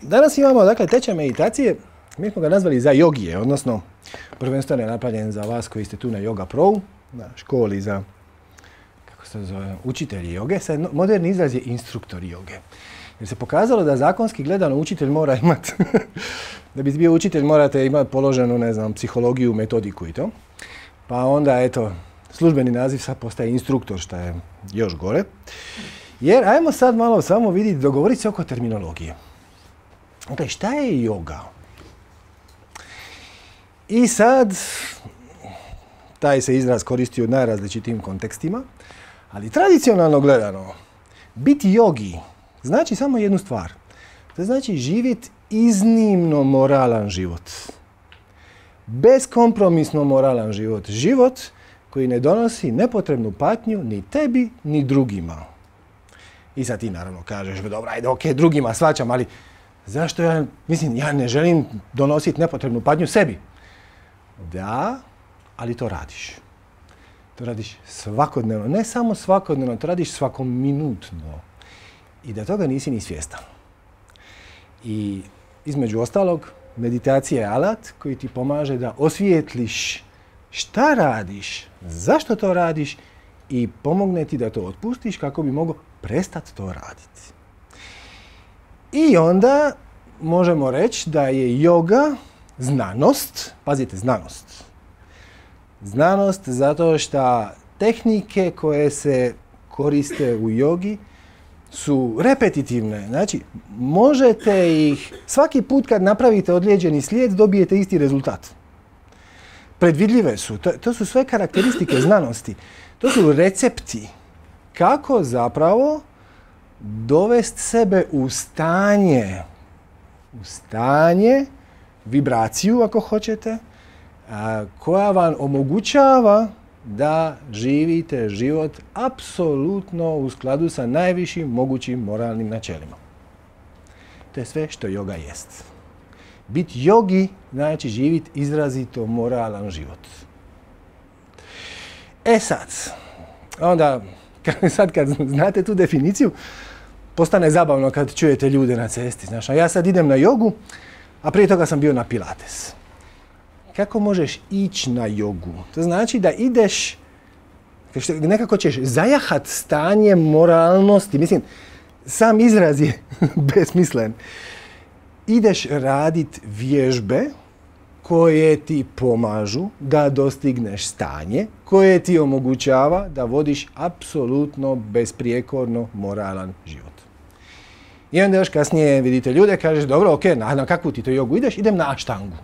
Danas imamo, dakle, tečaj meditacije, mi smo ga nazvali za jogije, odnosno prvenstveno je napravljen za vas koji ste tu na Yoga Pro, na školi za, kako se zove, učitelji joge. Sad, moderni izraz je instruktor joge. Jer se pokazalo da zakonski gledano učitelj mora imati, da bi bio učitelj morate imati položenu, ne znam, psihologiju, metodiku i to. Pa onda, eto, službeni naziv sad postaje instruktor, što je još gore. Jer, ajmo sad malo samo vidjeti, dogovoriti se oko terminologije. Dakle, šta je joga? I sad, taj se izraz koristi u najrazličitijim kontekstima, ali tradicionalno gledano, biti jogi znači samo jednu stvar. To znači živjeti iznimno moralan život. Beskompromisno moralan život. Život koji ne donosi nepotrebnu patnju ni tebi, ni drugima. I sad ti naravno kažeš, dobro, ajde, ok, drugima shvaćam, ali zašto ja ne želim donositi nepotrebnu patnju sebi? Da, ali to radiš. To radiš svakodnevno. Ne samo svakodnevno, to radiš svakominutno. I da toga nisi ni svjestan. I između ostalog, meditacija je alat koji ti pomaže da osvijetliš šta radiš, zašto to radiš i pomogne ti da to otpustiš kako bi mogao prestati to raditi. I onda možemo reći da je yoga znanost, pazite, znanost. Znanost zato što tehnike koje se koriste u jogi su repetitivne. Znači, možete ih, svaki put kad napravite odlijeđeni slijed, dobijete isti rezultat. Predvidljive su. To su sve karakteristike znanosti. To su recepti kako zapravo dovesti sebe u stanje, vibraciju ako hoćete, koja vam omogućava da živite život apsolutno u skladu sa najvišim mogućim moralnim načelima. To je sve što joga jest. Biti jogi znači živjeti izrazito moralan život. E sad, onda, kad znate tu definiciju, postane zabavno kad čujete ljude na cesti. Znaš, a ja sad idem na jogu, a prije toga sam bio na pilates. Kako možeš ići na jogu? To znači da ideš, nekako ćeš zajahat stanje moralnosti. Mislim, sam izraz je besmislen. Ideš radit vježbe koje ti pomažu da dostigneš stanje koje ti omogućava da vodiš apsolutno besprijekorno moralan život. I onda još kasnije vidite ljude, kažeš, dobro, ok, na kakvu ti to jogu ideš? Idem na aštangu.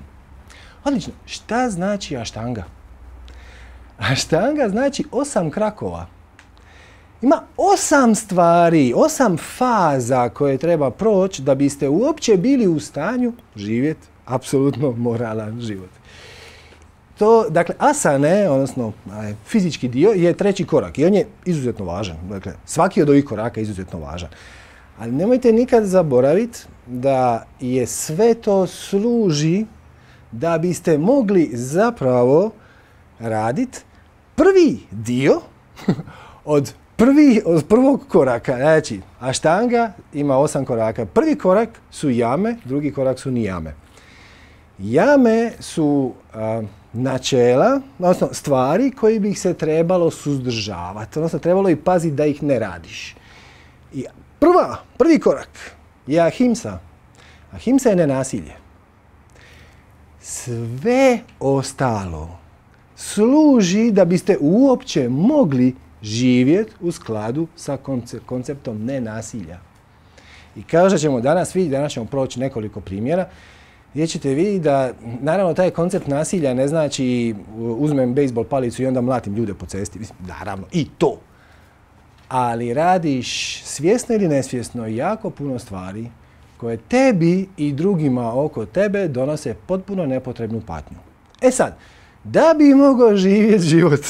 Odlično. Šta znači aštanga? Aštanga znači 8 krakova. Ima 8 stvari, 8 faza koje treba proći da biste uopće bili u stanju živjeti apsolutno moralan život. To, dakle, asane, odnosno fizički dio, je 3. korak i on je izuzetno važan. Dakle, svaki od ovih koraka je izuzetno važan. Ali nemojte nikad zaboraviti da je sve to služi da biste mogli zapravo raditi prvi dio od prvog koraka. Znači, aštanga ima 8 koraka. Prvi korak su jame, drugi korak su nijame. Jame su načela, odnosno stvari koje bi ih se trebalo suzdržavati, odnosno trebalo i paziti da ih ne radiš. I prvi korak je ahimsa. Ahimsa je nenasilje. Sve ostalo služi da biste uopće mogli živjeti u skladu sa konceptom nenasilja. I kao što ćemo danas vidjeti, danas ćemo proći nekoliko primjera, gdje ćete vidjeti da, naravno, taj koncept nasilja ne znači uzmem bejsbol palicu i onda mlatim ljude po cesti. Mislim, naravno, i to. Ali radiš svjesno ili nesvjesno jako puno stvari koje tebi i drugima oko tebe donose potpuno nepotrebnu patnju. E sad, da bi mogao živjeti život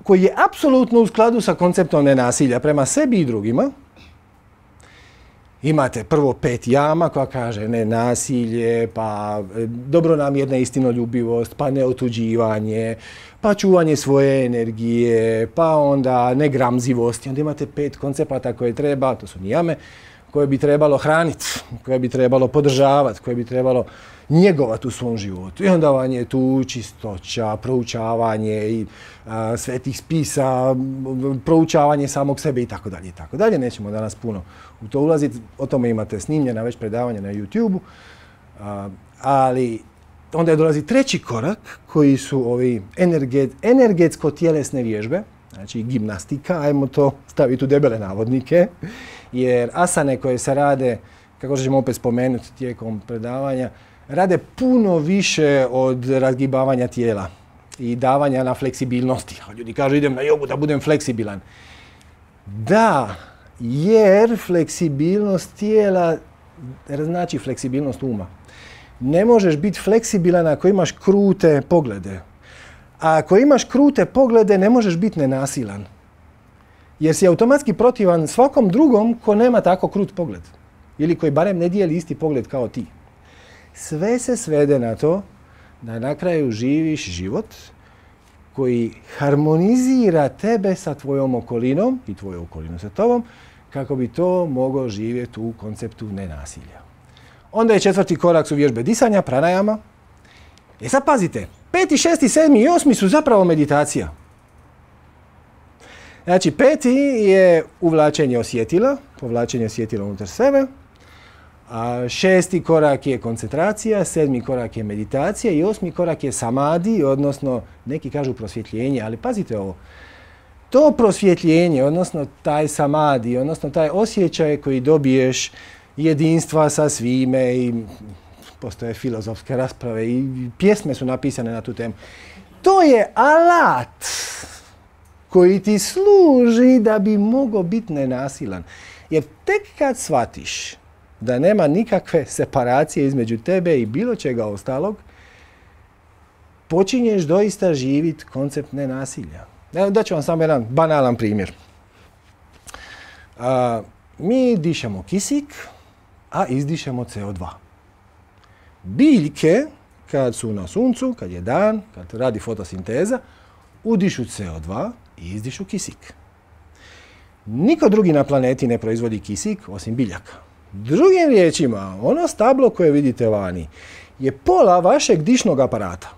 koji je apsolutno u skladu sa konceptom nenasilja prema sebi i drugima, imate prvo 5 jama koja kaže nenasilje, pa dobronamjerna istinoljubivost, pa neotuđivanje, pa čuvanje svoje energije, pa onda negramzivost. I onda imate 5 koncepata koje treba, to su nijame, koje bi trebalo hraniti, koje bi trebalo podržavati, koje bi trebalo njegovati u svom životu. I onda vam je tu čistoća, proučavanje i svetih spisa, proučavanje samog sebe i tako dalje i tako dalje. Nećemo danas puno u to ulaziti, o tome imate snimljena već predavanja na YouTube-u. Ali onda je dolazi treći korak koji su ovi energetsko-tjelesne vježbe, znači gimnastika, ajmo to staviti u debele navodnike, jer asane koje se rade, kako ćemo opet spomenuti tijekom predavanja, rade puno više od razgibavanja tijela i davanja na fleksibilnosti. Ljudi kažu idem na jogu da budem fleksibilan. Da, jer fleksibilnost tijela znači fleksibilnost uma. Ne možeš biti fleksibilan ako imaš krute poglede. A ako imaš krute poglede, ne možeš biti nenasilan. Jer si automatski protivan svakom drugom ko nema tako krut pogled. Ili koji barem ne dijeli isti pogled kao ti. Sve se svede na to da na kraju živiš život koji harmonizira tebe sa tvojom okolinom i tvoju okolinu sa tobom, kako bi to mogao živjeti u konceptu nenasilja. Onda je četvrti korak su vježbe disanja, pranajama. Sad pazite, 5., 6., 7. i 8. su zapravo meditacija. Znači, 5. je uvlačenje osjetila, povlačenje osjetila unutar sebe. 6. korak je koncentracija, 7. korak je meditacija i 8. korak je samadi, odnosno neki kažu prosvjetljenje, ali pazite ovo. To prosvjetljenje, odnosno taj samadi, odnosno taj osjećaj koji dobiješ jedinstva sa svime i postoje filozofske rasprave i pjesme su napisane na tu temu. To je alat koji ti služi da bi mogao biti nenasilan. Jer tek kad shvatiš da nema nikakve separacije između tebe i bilo čega ostalog, počinješ doista živjeti koncept nenasilja. Evo, daću vam samo jedan banalan primjer. Mi dišemo kisik, a izdišemo CO2. Biljke, kad su na suncu, kad je dan, kad radi fotosinteza, udišu CO2 i izdišu kisik. Niko drugi na planeti ne proizvodi kisik osim biljaka. Drugim riječima, ono stablo koje vidite vani je pola vašeg dišnog aparata.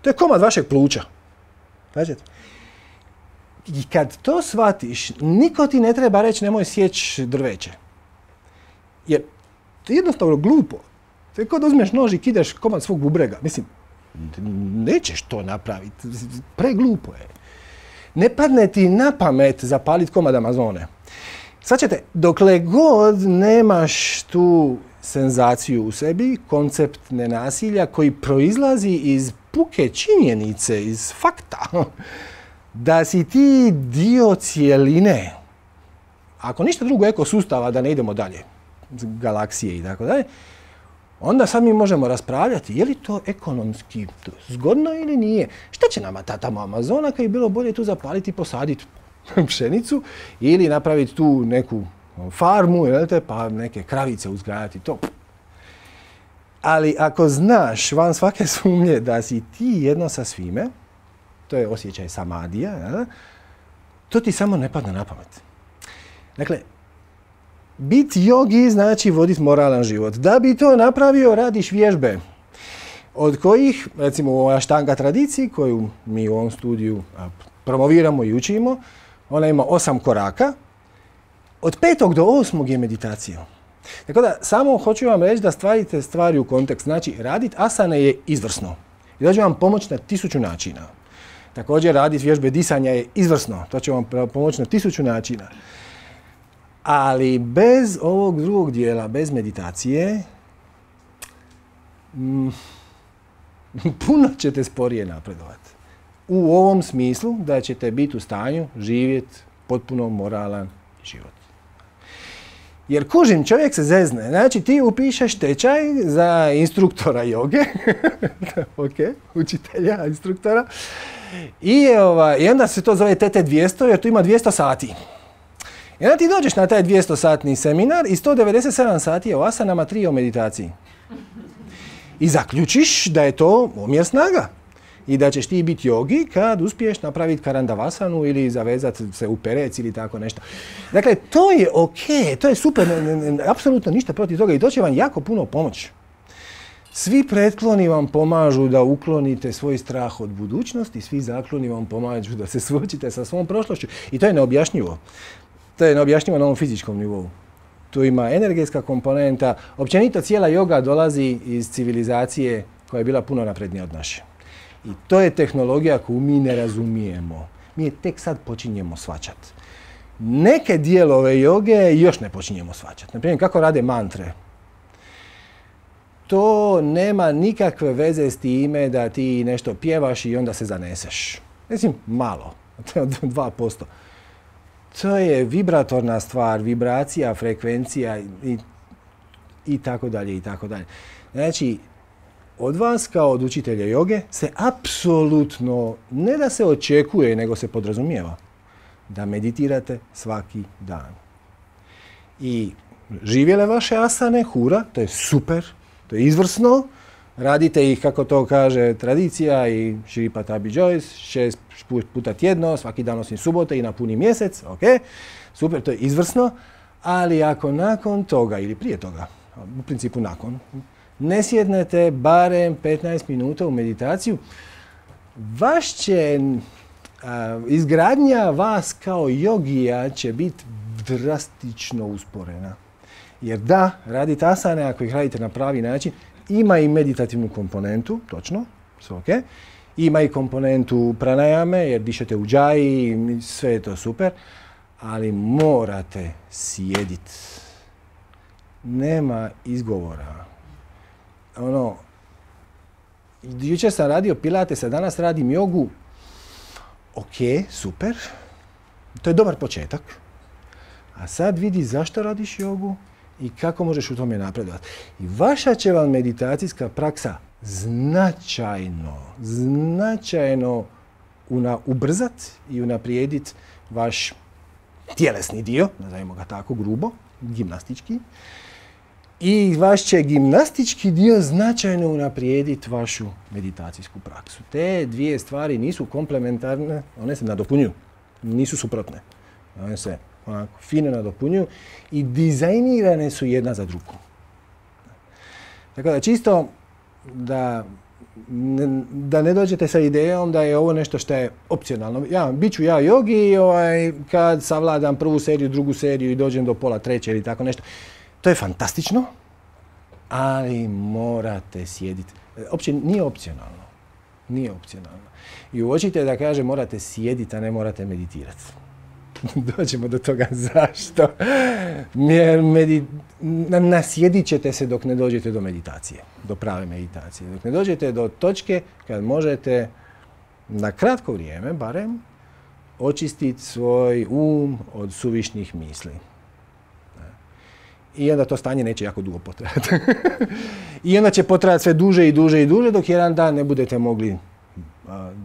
To je komad vašeg pluća. Znači, i kad to shvatiš, niko ti ne treba reći nemoj sjeći drveće. Jer to je jednostavno glupo. To je kao da uzmeš nož i kidaš komad svog bubrega. Mislim, nećeš to napraviti. Preglupo je. Ne padne ti na pamet zapaliti komad Amazone. Sad ćete, dokle god nemaš tu senzaciju u sebi, koncept nenasilja koji proizlazi iz puke činjenice, iz fakta, da si ti dio cijeline, ako ništa drugo ekosustava, da ne idemo dalje, galaksije i tako dalje, onda sad mi možemo raspravljati je li to ekonomski zgodno ili nije. Šta će nama ta tamo Amazona kad je bilo bolje tu zapaliti i posaditi pšenicu ili napraviti tu neku farmu, pa neke kravice uzgajati, to. Ali ako znaš van svake sumnje da si ti jedno sa svime, to je osjećaj samadija, to ti samo ne padne na pamet. Dakle, biti jogi znači voditi moralan život. Da bi to napravio, radiš vježbe. Od kojih, recimo u ovoj Ashtanga tradiciji, koju mi u ovom studiju promoviramo i učimo, ona ima 8 koraka. Od 5. do 8. je meditacija. Tako da, samo hoću vam reći da stavite stvari u kontekst. Znači, raditi asane je izvrsno. I da će vam pomoći na 1000 načina. Također, raditi vježbe disanja je izvrsno. To će vam pomoći na 1000 načina. Ali bez ovog drugog dijela, bez meditacije, puno ćete sporije napredovati. U ovom smislu da ćete biti u stanju živjeti potpuno moralan život. Jer kužim, čovjek se zezne. Znači ti upišeš tečaj za instruktora joge, učitelja, instruktora, i onda se to zove TT200 jer tu ima 200 sati. I onda ti dođeš na taj 200-satni seminar i 197 sati je o asanama, 3 o meditaciji. I zaključiš da je to omjer snaga. I da ćeš ti biti jogi kad uspiješ napraviti karandavasanu ili zavezati se u perec ili tako nešto. Dakle, to je ok, to je super, apsolutno ništa protiv toga i to će vam jako puno pomoći. Svi pretkloni vam pomažu da uklonite svoj strah od budućnosti, svi zakloni vam pomažu da se suočite sa svom prošlošću. I to je neobjašnjivo. To je neobjašnjivo na ovom fizičkom nivou. Tu ima energetska komponenta. Općenito cijela joga dolazi iz civilizacije koja je bila puno naprednija od naše. I to je tehnologija koju mi ne razumijemo. Mi je tek sad počinjemo shvaćati. Neke dijelove joge još ne počinjemo shvaćati. Naprimjer, kako rade mantre. To nema nikakve veze s time da ti nešto pjevaš i onda se zaneseš. Mislim, malo. To je 2%. To je vibratorna stvar, vibracija, frekvencija i tako dalje, i tako dalje. Znači, od vas kao od učitelja joge se apsolutno, ne da se očekuje, nego se podrazumijeva da meditirate svaki dan. I živjele vaše asane, hura, to je super, to je izvrsno. Radite ih, kako to kaže tradicija i Shri Patabi Joyce, 6 puta tjedno, svaki dan osim subote i na puni mjesec, ok, super, to je izvrsno, ali ako nakon toga ili prije toga, u principu nakon, ne sjednete barem 15 minuta u meditaciju, vaš će izgradnja vas kao jogija će biti drastično usporena. Jer da, radite asane, ako ih radite na pravi način, ima i meditativnu komponentu, točno, sve ok. Ima i komponentu pranajame, jer dišete u džaji, sve je to super, ali morate sjediti. Nema izgovora. Jučer sam radio pilatesa, danas radim jogu. Ok, super. To je dobar početak. A sad vidi zašto radiš jogu i kako možeš u tome napredovati. I vaša će vam meditacijska praksa značajno ubrzati i unaprijediti vaš tjelesni dio, nazovimo ga tako grubo, gimnastički. I vaš će gimnastički dio značajno unaprijediti vašu meditacijsku praksu. Te dvije stvari nisu komplementarne, one se nadopunjuju, nisu suprotne. One se onako fino nadopunjuju i dizajnirane su jedna za drugu. Tako da čisto da ne dođete sa idejom da je ovo nešto što je opcionalno. Bit ću ja jogi kad savladam prvu seriju, drugu seriju i dođem do pola treće ili tako nešto. To je fantastično, ali morate sjediti. Uopće nije opcionalno. Nije opcionalno. I uočite da kaže morate sjediti, a ne morate meditirati. Dođemo do toga zašto. Jer nasjedit ćete se dok ne dođete do meditacije, do prave meditacije. Dok ne dođete do točke kad možete na kratko vrijeme, barem, očistiti svoj od suvišnih misli. I onda to stanje neće jako dugo potrajati. I onda će potrajati sve duže i duže i duže dok jedan dan ne budete mogli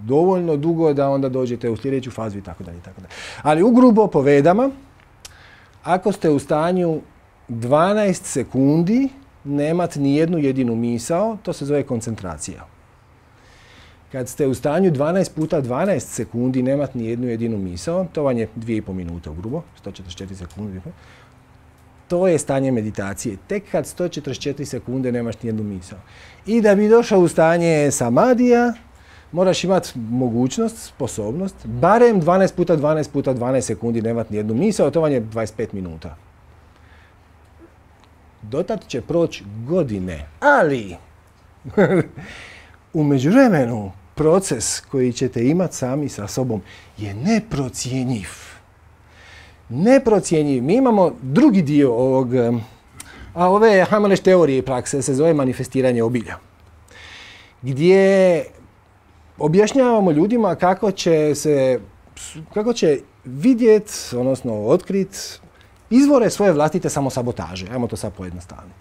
dovoljno dugo da onda dođete u sljedeću fazu i tako dalje. Ali ugrubo povedama, ako ste u stanju 12 sekundi nemati ni jednu jedinu misao, to se zove koncentracija. Kad ste u stanju 12 puta 12 sekundi nemati ni jednu jedinu misao, to vam je 2,5 minute ugrubo, 144 sekundi. To je stanje meditacije. Tek kad 144 sekunde nemaš ni jednu misao. I da bi došao u stanje samadija, moraš imati mogućnost, sposobnost, barem 12 puta 12 puta 12 sekundi nemati ni jednu misao, to vam je 25 minuta. Dotad će proći godine, ali u međuvremenu proces koji ćete imati sami sa sobom je neprocjenjiv. Neprocjenjiv. Mi imamo drugi dio ove, hajmo reći, teorije i prakse, se zove manifestiranje obilja. Gdje objašnjavamo ljudima kako će vidjeti, odnosno otkriti izvore svoje vlastite samosabotaže. Ajmo to sad pojednostaviti.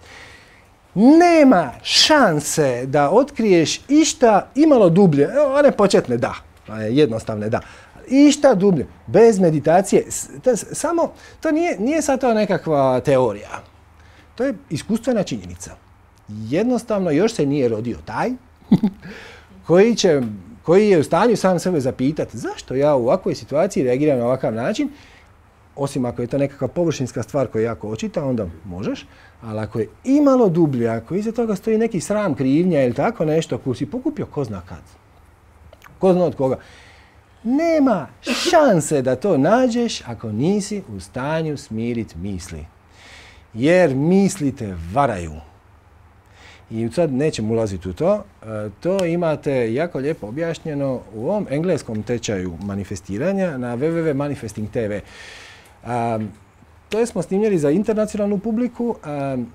Nema šanse da otkriješ išta imalo dublje, one početne da, jednostavne da, išta dublje, bez meditacije. To nije sad to nekakva teorija. To je iskustvena činjenica. Jednostavno još se nije rodio taj koji će koji je u stanju sam sebe zapitati zašto ja u ovakvoj situaciji reagiram na ovakav način, osim ako je to nekakva površinska stvar koja je jako očita, onda možeš, ali ako je imalo dublje, ako iza toga stoji neki sram, krivnja ili tako nešto, ako si pokupio ko zna kad, ko zna od koga, nema šanse da to nađeš ako nisi u stanju smiriti misli. Jer misli te varaju. I sad nećemo ulaziti u to. To imate jako lijepo objašnjeno u ovom engleskom tečaju manifestiranja na www.manifesting.tv. To smo snimljali za internacionalnu publiku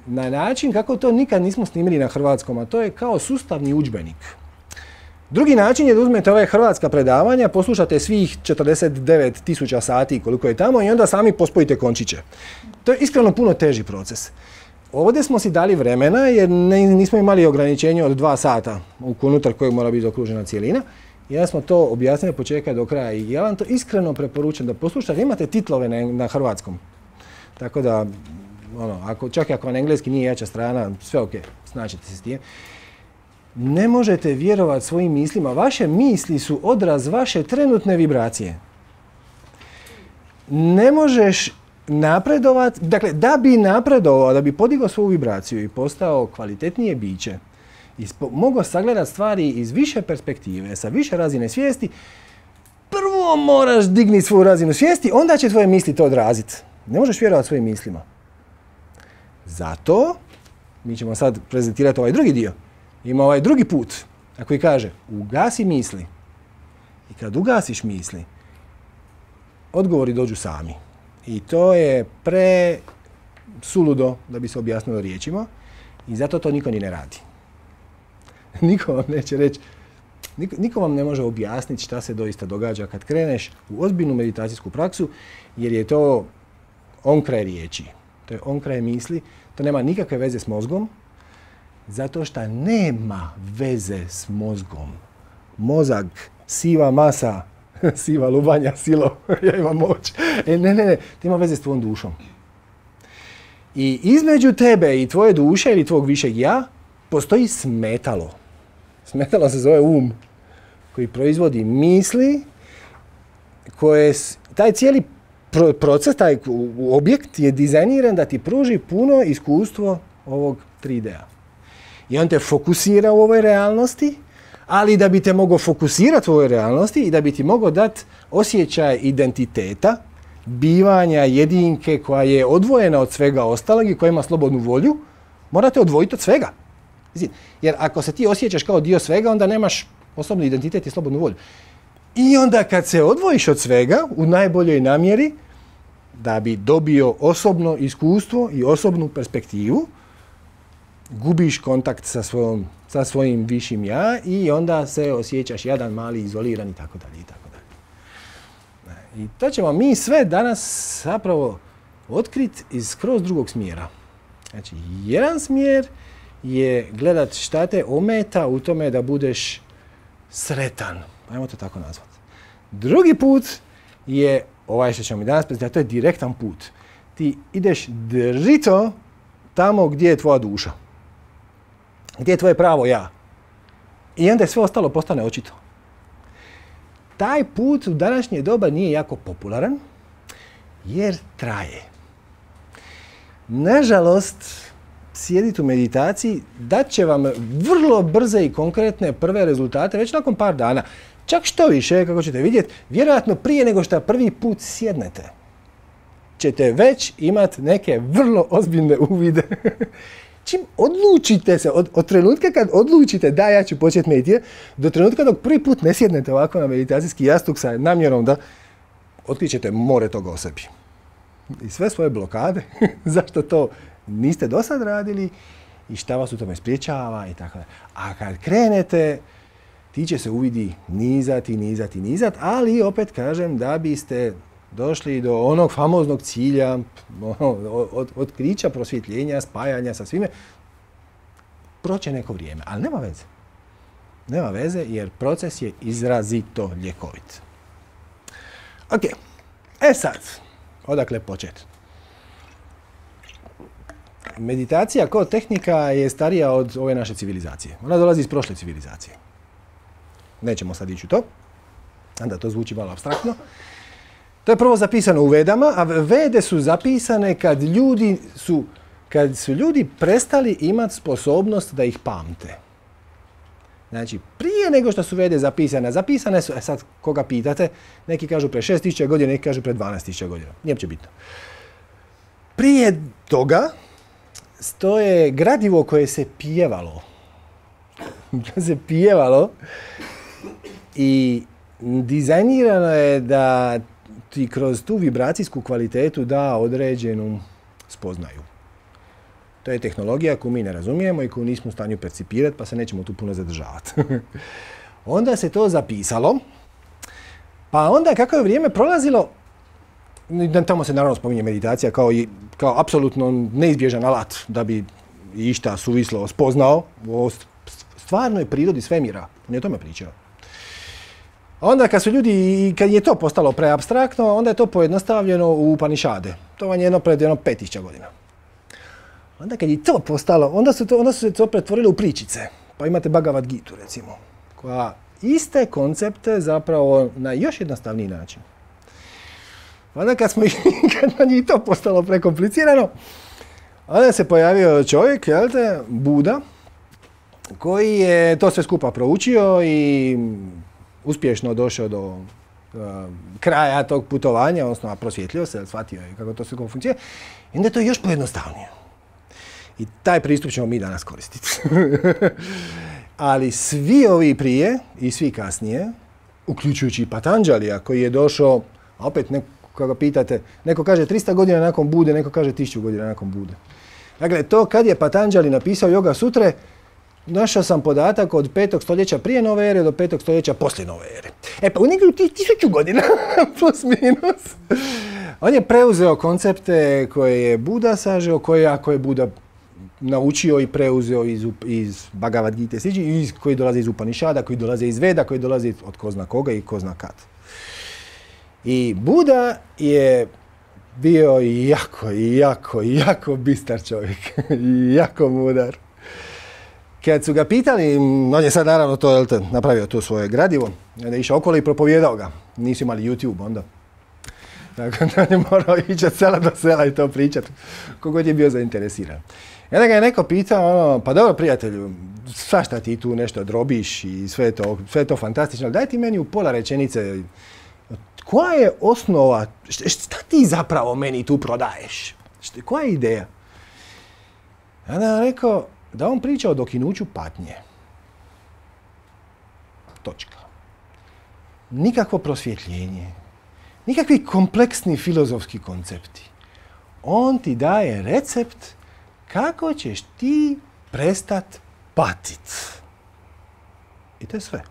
na način kako to nikad nismo snimili na hrvatskom, a to je kao sustavni udžbenik. Drugi način je da uzmete ove hrvatska predavanja, poslušate svih 49.000 sati koliko je tamo i onda sami pospojite končiće. To je iskreno puno teži proces. Ovdje smo si dali vremena jer nismo imali ograničenje od 2 sata unutar kojeg mora biti okružena cijelina. I onda smo to objasnili od početka do kraja i ja vam to iskreno preporučujem da poslušate. Imate titlove na hrvatskom. Tako da, čak i ako vam engleski nije jača strana, sve ok, snaćete se s tim. Ne možete vjerovati svojim mislima. Vaše misli su odraz vaše trenutne vibracije. Ne možeš napredovati, dakle, da bi napredovao, da bi podigao svoju vibraciju i postao kvalitetnije biće i mogao sagledati stvari iz više perspektive, sa više razine svijesti, prvo moraš dignuti svoju razinu svijesti, onda će tvoje misli to odraziti. Ne možeš vjerovati svojim mislima. Zato, mi ćemo sad prezentirati ovaj drugi dio. Ima ovaj drugi put, a koji kaže, ugasi misli. I kad ugasiš misli, odgovori dođu sami. I to je suludo da bi se objasnilo riječima i zato to niko ni ne radi. Niko vam neće reći, niko vam ne može objasniti šta se doista događa kad kreneš u ozbiljnu meditacijsku praksu, jer je to onkraj riječi. To je onkraj misli, to nema nikakve veze s mozgom, zato što nema veze s mozgom. Mozak, siva masa, siva lubanja, silo, ja imam moć. Ne, to ima veze s tvojom dušom. I između tebe i tvoje duše ili tvog višeg ja postoji smetalo. Smetalo se zove koji proizvodi misli, taj cijeli proces, taj objekt je dizajniran da ti pruži puno iskustvo ovog 3D-a. I on te fokusira u ovoj realnosti, ali da bi te mogao fokusirati u ovoj realnosti i da bi ti mogao dati osjećaj identiteta, bivanja jedinke koja je odvojena od svega ostalog i koja ima slobodnu volju, morate odvojiti od svega. Jer ako se ti osjećaš kao dio svega, onda nemaš osobni identitet i slobodnu volju. I onda kad se odvojiš od svega, u najboljoj namjeri, da bi dobio osobno iskustvo i osobnu perspektivu, gubiš kontakt sa svojim višim ja i onda se osjećaš jadan, mali, izoliran i tako dalje. I to ćemo mi sve danas zapravo otkriti iz skroz drugog smjera. Znači, jedan smjer je gledat šta te ometa u tome da budeš sretan. Ajmo to tako nazvati. Drugi put je ovaj što ćemo mi danas predstaviti, to je direktan put. Ti ideš drito tamo gdje je tvoja duša. Gdje je tvoje pravo ja. I onda sve ostalo postane očito. Taj put u današnje doba nije jako popularan, jer traje. Nažalost, sjediti u meditaciji dat će vam vrlo brze i konkretne prve rezultate već nakon par dana. Čak što više, kako ćete vidjeti, vjerojatno prije nego što prvi put sjednete, ćete već imati neke vrlo ozbiljne uvide. Čim odlučite se, od trenutka kad odlučite da ja ću početi meditirati, do trenutka dok prvi put ne sjednete ovako na meditacijski jastuk sa namjerom da otkrićete more toga o sebi. I sve svoje blokade, zašto to niste do sad radili i šta vas u tome spriječava i tako da. A kad krenete, ti će se uvidi nizati, ali opet kažem da biste došli do onog famoznog cilja, otkrića, prosvjetljenja, spajanja sa svime, proće neko vrijeme, ali nema veze. Nema veze jer proces je izrazito ljekovit. Ok, sad, odakle početi? Meditacija kao tehnika je starija od ove naše civilizacije. Ona dolazi iz prošle civilizacije. nećemo sad ići u to, onda to zvuči malo apstraktno. To je prvo zapisano u Vedama, a Vede su zapisane kad su ljudi prestali imati sposobnost da ih pamte. Znači, prije nego što su Vede zapisane su, sad koga pitate, neki kažu pre 6000 godina, neki kažu pre 12.000 godina. Nije uopće bitno. Prije toga stoje gradivo koje se pjevalo. I dizajnirano je da ti kroz tu vibracijsku kvalitetu da određenu spoznaju. To je tehnologija koju mi ne razumijemo i koju nismo u stanju percipirati, pa se nećemo tu puno zadržavati. Onda se to zapisalo, pa onda kako je vrijeme prolazilo, tamo se naravno spominje meditacija kao apsolutno neizbježan alat da bi išta suvislo spoznao o stvarnoj prirodi svemira. On je o tome pričao. Onda kad je to postalo preapstraktno, onda je to pojednostavljeno u Upanišade. To vam je pred 5000 godina. Onda kad je to postalo, onda su se to pretvorilo u pričice. Pa imate Bhagavad Gitu, recimo, koja iste koncepte zapravo na još jednostavniji način. Onda kad nam je to postalo prekomplicirano, onda se pojavio čovjek, Buda, koji je to sve skupa proučio i uspješno došao do kraja tog putovanja, odnosno prosvjetlio se, shvatio je kako to sve funkcionira, i onda je to još pojednostavnije. I taj pristup ćemo mi danas koristiti. Ali svi ovi prije i svi kasnije, uključujući i Patanđalija koji je došao, a opet kako ga pitate, neko kaže 300 godina nakon Bude, neko kaže 1000 godina nakon Bude. Dakle, to kad je Patanđali napisao Yoga Sutre, našao sam podatak od 5. stoljeća prije nove ere do 5. stoljeća poslije nove ere. Pa u nekih 1000 godina, plus minus. On je preuzeo koncepte koje je Buda sažeo, ako je Buda naučio i preuzeo iz Bhagavad Gite, koji dolaze iz Upanišada, koji dolaze iz Veda, koji dolaze od ko zna koga i ko zna kad. I Buda je bio jako bistar čovjek. Jako mudar. Kad su ga pitali, on je sad naravno to napravio to svoje gradivo, onda je išao okolo i propovijedao ga. Nisu imali YouTube onda. Tako da je morao ići od sela do sela i to pričati, kogod je bio zainteresiran. I onda ga je neko pitao, pa dobro prijatelju, svašta ti tu nešto drobiš i sve je to fantastično, ali daj ti meni u pola rečenice, koja je osnova, šta ti zapravo meni tu prodaješ? Koja je ideja? I onda je rekao da on priča o dokinuću patnje. Točka. Nikakvo prosvjetljenje, nikakvi kompleksni filozofski koncepti. On ti daje recept kako ćeš ti prestat patit. I to je sve.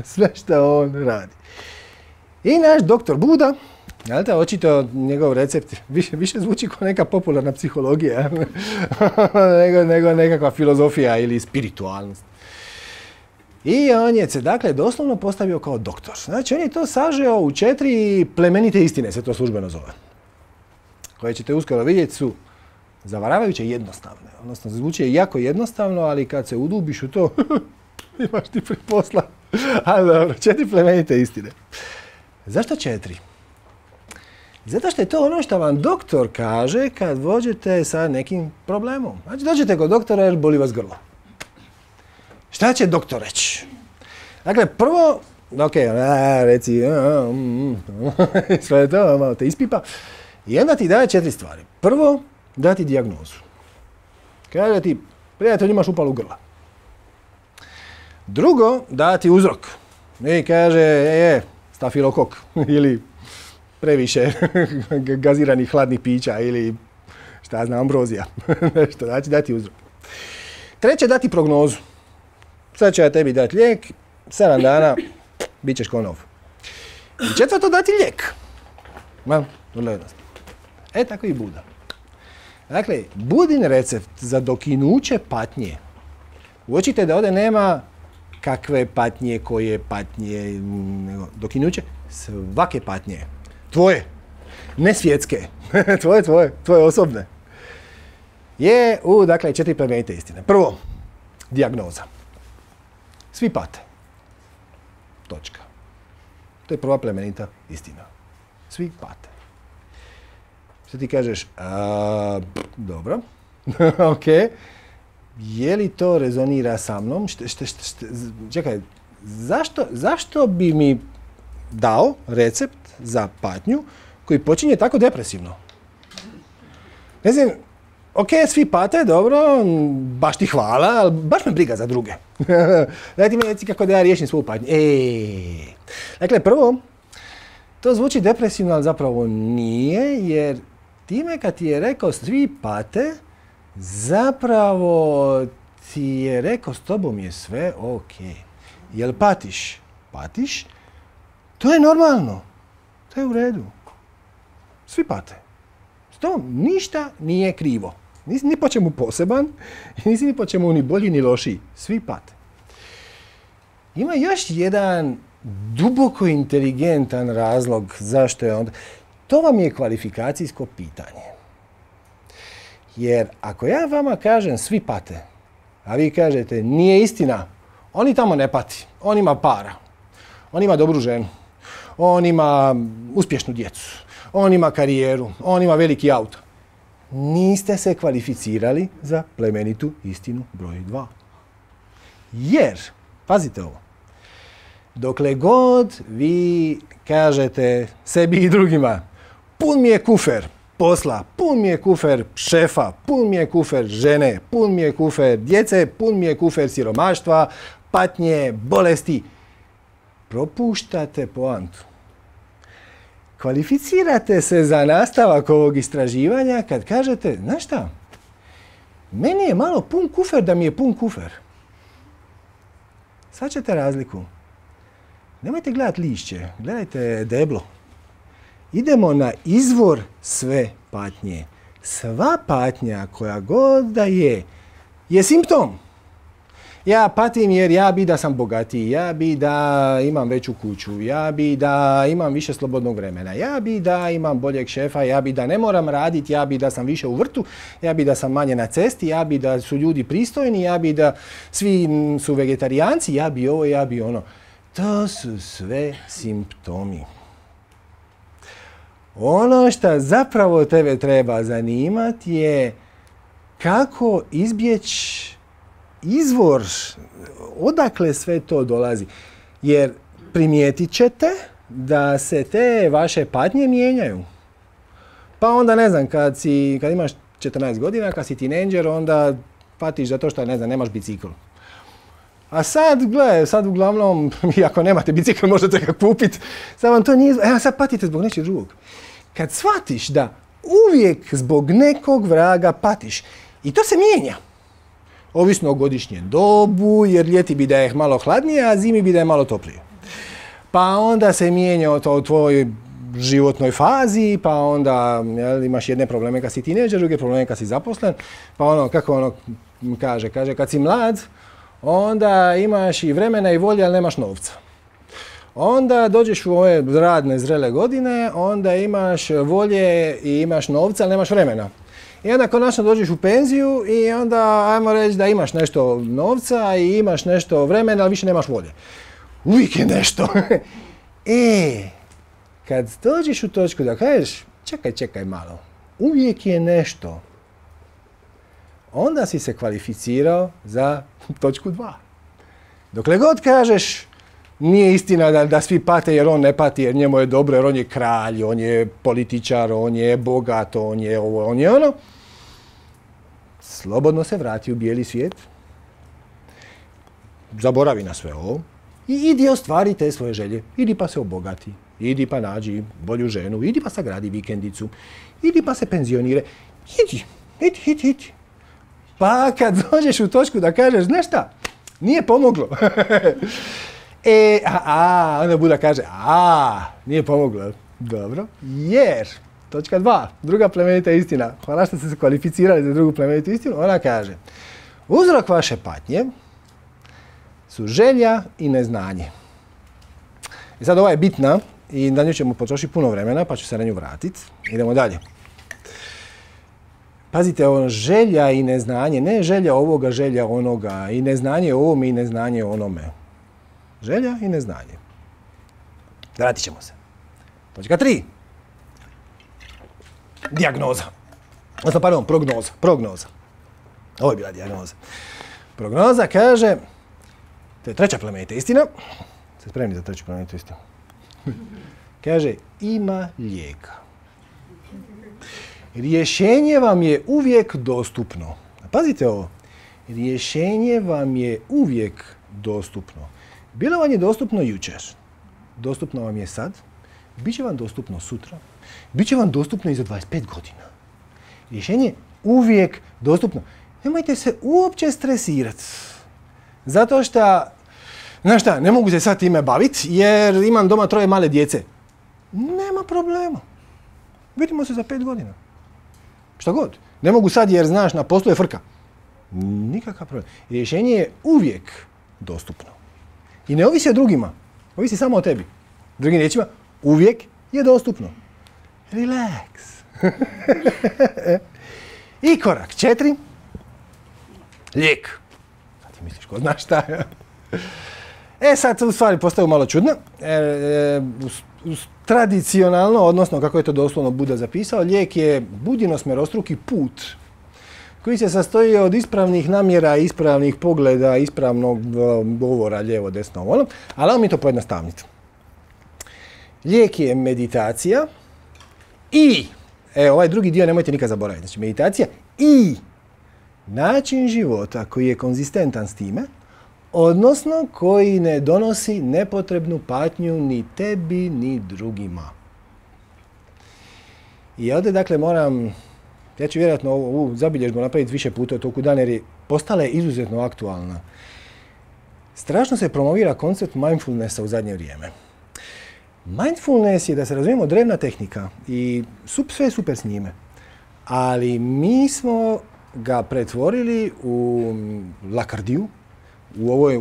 Sve što on radi. I naš doktor Buda, očito njegov recept više zvuči kao neka popularna psihologija nego nekakva filozofija ili spiritualnost. I on je se dakle doslovno postavio kao doktor. Znači on je to sažeo u 4 plemenite istine, se to službeno zove. Koje ćete uskoro vidjeti su zavaravajuće jednostavne. Odnosno zvuči jako jednostavno, ali kad se udubiš u to, imaš ti pri posla. Ali dobro, 4 plemenite istine. Zašto 4? Zato što je to ono što vam doktor kaže kad dođete sa nekim problemom. Znači dođete kod doktora jer boli vas grlo. Šta će doktor reći? Dakle, prvo, reci, sve to, malo te ispipa. I onda ti daje 4 stvari. Prvo, da ti dijagnozu. Kaže ti, prijatelj, imaš upalu grla. Drugo, da ti uzrok. I kaže, stafilokok ili previše gaziranih hladnih pića ili šta znam, ambrozija. Nešto, znači dati uzrok. Treće, dati prognozu. Sad će ja tebi dati lijek, 7 dana, bit ćeš ko nov. I četvrto, dati lijek. Vrlo jednostavno. Tako i Buda. Dakle, Budin recept za dokinuće patnje. Uočite da ovdje nema kakve patnje, koje patnje, nego dokinuće svake patnje. Tvoje, ne svjetske, tvoje osobne. Je dakle, 4 plemenite istine. Prvo, dijagnoza. Svi pate. Točka. To je prva plemenita istina. Svi pate. Sad ti kažeš, dobro, ok, je li to rezonira sa mnom? Čekaj, zašto bi mi dao recept za patnju koji počinje tako depresivno? Ne znam, ok, svi pate, dobro, baš ti hvala, ali baš me briga za druge. Daj ti mi reci kako da ja riješim svoju patnju. Dakle, prvo, to zvuči depresivno, ali zapravo nije, jer time kad ti je rekao svi pate, zapravo ti je rekao s tobom je sve ok. Jel patiš? Patiš? To je normalno. To je u redu. Svi pate. S tobom ništa nije krivo. Nisi ni po čemu poseban, nisi ni po čemu ni bolji ni lošiji. Svi pate. Ima još jedan duboko inteligentan razlog zašto je onda. To vam je kvalifikacijsko pitanje. Jer ako ja vama kažem svi pate, a vi kažete nije istina, oni tamo ne pati, on ima para, on ima dobru ženu, on ima uspješnu djecu, on ima karijeru, on ima veliki auto. Niste se kvalificirali za plemenitu istinu broj 2. Jer, pazite ovo, dokle god vi kažete sebi i drugima pun mi je kufer posla, pun mi je kufer šefa, pun mi je kufer žene, pun mi je kufer djece, pun mi je kufer siromaštva, patnje, bolesti, propuštate poantu. Kvalificirate se za nastavak ovog istraživanja kad kažete, znaš šta, meni je malo pun kufer da mi je pun kufer. Shvaćate razliku? Nemojte gledati lišće, gledajte deblo. Idemo na izvor sve patnje. Sva patnja koja god da je simptom. Ja patim jer ja bi da sam bogatiji, ja bi da imam veću kuću, ja bi da imam više slobodnog vremena, ja bi da imam boljeg šefa, ja bi da ne moram raditi, ja bi da sam više u vrtu, ja bi da sam manje na cesti, ja bi da su ljudi pristojni, ja bi da svi su vegetarijanci, ja bi ovo, ja bi ono. To su sve simptomi. Ono što zapravo tebe treba zanimati je kako izbjeći izvor, odakle sve to dolazi. Jer primijetit ćete da se te vaše patnje mijenjaju. Pa onda, ne znam, kad imaš 14 godina, kad si tinejdžer, onda patiš zato što, ne znam, nemaš bicikl. A sad, gle, sad uglavnom, ako nemate bicikl, možete ga kupiti. Sad vam to nije, sad patite zbog nečeg drugog. Kad shvatiš da uvijek zbog nekog vraga patiš, i to se mijenja. Ovisno o godišnjem dobu, jer ljeti bi da je malo hladnije, a zimi bi da je malo toplije. Pa onda se mijenja to u tvojoj životnoj fazi, pa onda imaš jedne probleme kad si tinejdžer, druge probleme kad si zaposlen, pa ono, kako ono kaže, kad si mlad, onda imaš i vremena i volje, ali nemaš novca. Onda dođeš u ove radne, zrele godine, onda imaš volje i imaš novca, ali nemaš vremena. I onda konačno dođeš u penziju i onda ajmo reći da imaš nešto novca i imaš nešto vremena, ali više nemaš volje. Uvijek je nešto. Kad dođeš u točku da kažeš, čekaj malo, uvijek je nešto, onda si se kvalificirao za točku 2. Dokle god kažeš, nije istina da svi pate jer on ne pati, jer njemu je dobro, jer on je kralj, on je političar, on je bogat, on je ovo, on je ono. Slobodno se vrati u bijeli svijet. Zaboravi na sve ovo. I idi ostvari te svoje želje. Idi pa se obogati. Idi pa nađi bolju ženu. Idi pa sagradi vikendicu. Idi pa se penzionire. Idi. Pa kad dođeš u točku da kažeš, znaš šta, nije pomoglo. Onda Buda kaže, nije pomoglo. Dobro, jer, točka 2, druga plemenita istina. Hvala što ste se kvalificirali za drugu plemenitu istinu. Ona kaže, uzrok vaše patnje su želja i neznanje. I sad ova je bitna i na nju ćemo potrošiti puno vremena, pa ću se na nju vratiti. Idemo dalje. Pazite, želja i neznanje, ne želja ovoga, želja onoga, i neznanje ovome i neznanje onome. Želja i neznanje. Vratit ćemo se. Točka 3. Dijagnoza. Odnosno, pardon, prognoza. Ovo je bila dijagnoza. Prognoza kaže, to je treća plemenita istina. Ste spremni za treću plemenitu istinu? Kaže, ima lijeka. Rješenje vam je uvijek dostupno. Pazite ovo. Rješenje vam je uvijek dostupno. Bilo vam je dostupno jučer. Dostupno vam je sad. Biće vam dostupno sutra. Biće vam dostupno i za 25 godina. Rješenje je uvijek dostupno. Nemojte se uopće stresirati. Zato što, znaš šta, ne mogu se sad time baviti jer imam doma 3 male djece. Nema problema. Vidimo se za 5 godina. Šta god. Ne mogu sad jer, znaš, na poslu je frka. Nikakav problem. Rješenje je uvijek dostupno. I ne ovisi o drugima. Ovisi samo o tebi. Drugim riječima, uvijek je dostupno. Relax. I korak 4. Lijek. Sad ti misliš, ko znaš šta? Sad u stvari postaju malo čudno. Tradicionalno, odnosno kako je to doslovno Buda zapisao, lijek je budino-smerostruki put koji se sastoji od ispravnih namjera, ispravnih pogleda, ispravnog govora, lijevo, desno, ono, ali mi to pojednostavniti. Lijek je meditacija i, ovaj drugi dio nemojte nikad zaboraviti, znači meditacija i način života koji je konzistentan s time, odnosno koji ne donosi nepotrebnu patnju ni tebi, ni drugima. I ovdje, dakle, moram, ja ću vjerojatno ovu zabilježbu napraviti više puta u toku dana jer je postala izuzetno aktualna. Strašno se promovira koncept mindfulnessa u zadnje vrijeme. Mindfulness je, da se razumijemo, drevna tehnika i sve je super s njime. Ali mi smo ga pretvorili u lakrdiju.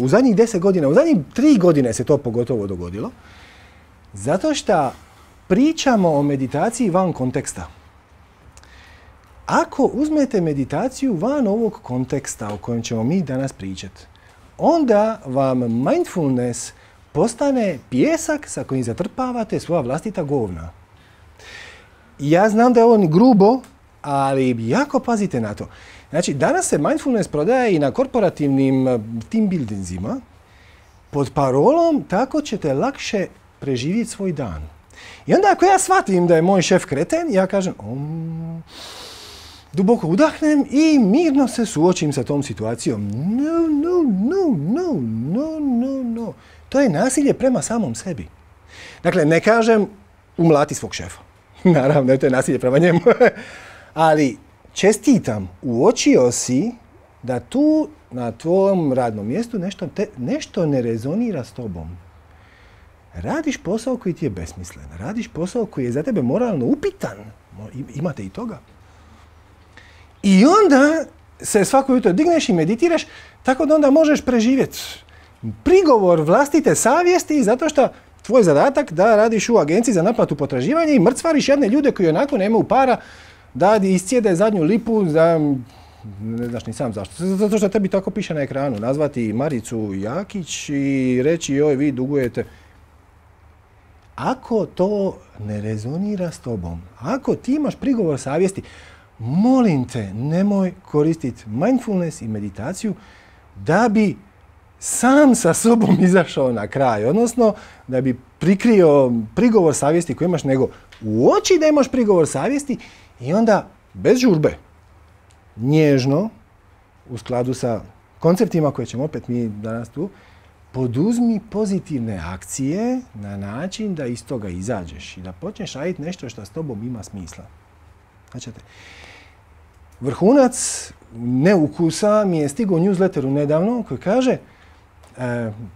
U zadnjih 10 godina, u zadnjih 3 godine se to pogotovo dogodilo. Zato što pričamo o meditaciji van konteksta. Ako uzmete meditaciju van ovog konteksta o kojem ćemo mi danas pričati, onda vam mindfulness postane pijesak sa kojim zatrpavate svoja vlastita govna. Ja znam da je ovo grubo, ali jako pazite na to. Znači, danas se mindfulness prodaje i na korporativnim team buildingsima pod parolom tako ćete lakše preživjeti svoj dan. I onda ako ja shvatim da je moj šef kreten, ja kažem duboko udahnem i mirno se suočim sa tom situacijom. No. To je nasilje prema samom sebi. Dakle, ne kažem umlati svog šefa. Naravno, to je nasilje prema njemu. Ali čestitam, uočio si da tu na tvojom radnom mjestu nešto ne rezonira s tobom. Radiš posao koji ti je besmislen. Radiš posao koji je za tebe moralno upitan. Imate i toga. I onda se svako jutro digneš i meditiraš tako da onda možeš preživjeti prigovor vlastite savjesti zato što tvoj zadatak da radiš u agenciji za naplatu potraživanja i mrcvariš jedne ljude koji onako nemaju para da iscijede zadnju lipu za, ne znaš ni sam zašto, zato što tebi tako piše na ekranu, nazvati Maricu Jakić i reći joj vi dugujete. Ako to ne rezonira s tobom, ako ti imaš prigovor savjesti, molim te, nemoj koristiti mindfulness i meditaciju da bi sam sa sobom izašao na kraj, odnosno da bi prikrio prigovor savjesti koji imaš, nego uoči da imaš prigovor savjesti i onda bez žurbe, nježno, u skladu sa konceptima koje ćemo opet mi danas tu, poduzmi pozitivne akcije na način da iz toga izađeš i da počneš raditi nešto što s tobom ima smisla. Znači, vrhunac neukusa mi je stigao u newsletteru nedavno koji kaže,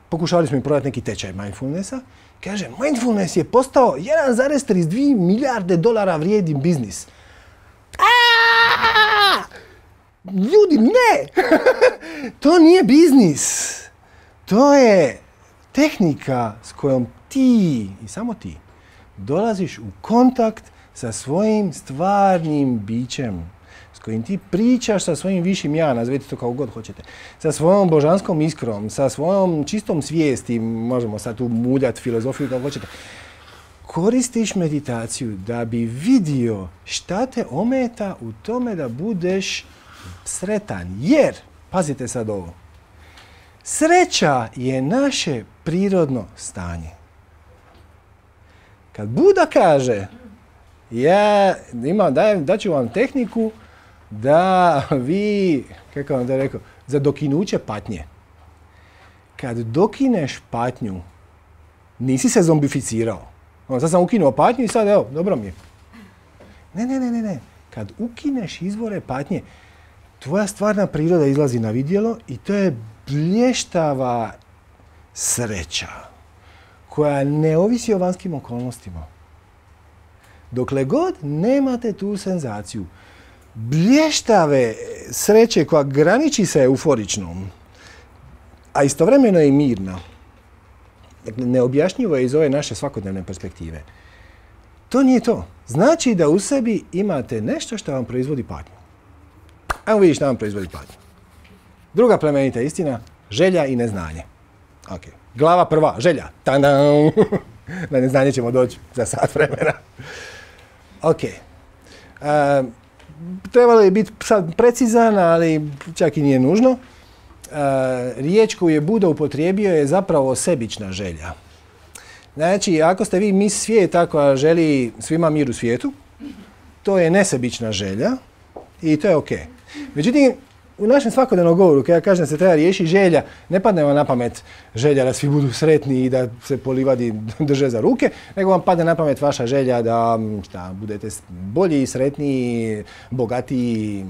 pokušali smo im prodati neki tečaj mindfulnessa, kaže, mindfulness je postao 1,32 milijarde dolara vrijedni biznis. Ljudi, ne! To nije biznis. To je tehnika s kojom ti, i samo ti, dolaziš u kontakt sa svojim stvarnim bićem, s kojim ti pričaš sa svojim višim ja, nazvite to kako god hoćete, sa svojom božanskom iskrom, sa svojom čistom svijesti, možemo sad tu muljati filozofiju kako hoćete. koristiš meditaciju da bi vidio šta te ometa u tome da budeš sretan. Jer, pazite sad ovo, sreća je naše prirodno stanje. Kad Buda kaže, daću vam tehniku da vi, kako vam da rekao, za dokinuće patnje. Kad dokineš patnju, nisi se zombificirao. Sad sam ukinuo patnju i sad evo, dobro mi je. Ne. Kad ukineš izvore patnje, tvoja stvarna priroda izlazi na vidjelo i to je blještava sreća koja ne ovisi o vanjskim okolnostima. Dokle god nemate tu senzaciju blještave sreće koja graniči sa euforičnom, a istovremeno je i mirna, dakle, neobjašnjivo je iz ove naše svakodnevne perspektive. To nije to. Znači da u sebi imate nešto što vam proizvodi patnju. Ajmo vidjeti što vam proizvodi patnju. Druga plemenita istina, želja i neznanje. Ok. Glava prva, želja. Tadam! Na neznanje ćemo doći za sat vremena. Ok. Trebalo je biti sad precizan, ali čak i nije nužno. Riječ koju je Buda upotrijebio je zapravo sebična želja. Znači, ako ste vi mis svijeta koja želi svima mir u svijetu, to je nesebična želja i to je ok. Međutim, u našem svakodnevnom govoru, kada ja kažem da se treba riješiti želja, ne padne vam na pamet želja da svi budu sretni i da se po livadi drže za ruke, nego vam padne na pamet vaša želja da budete bolji, sretniji, bogatiji,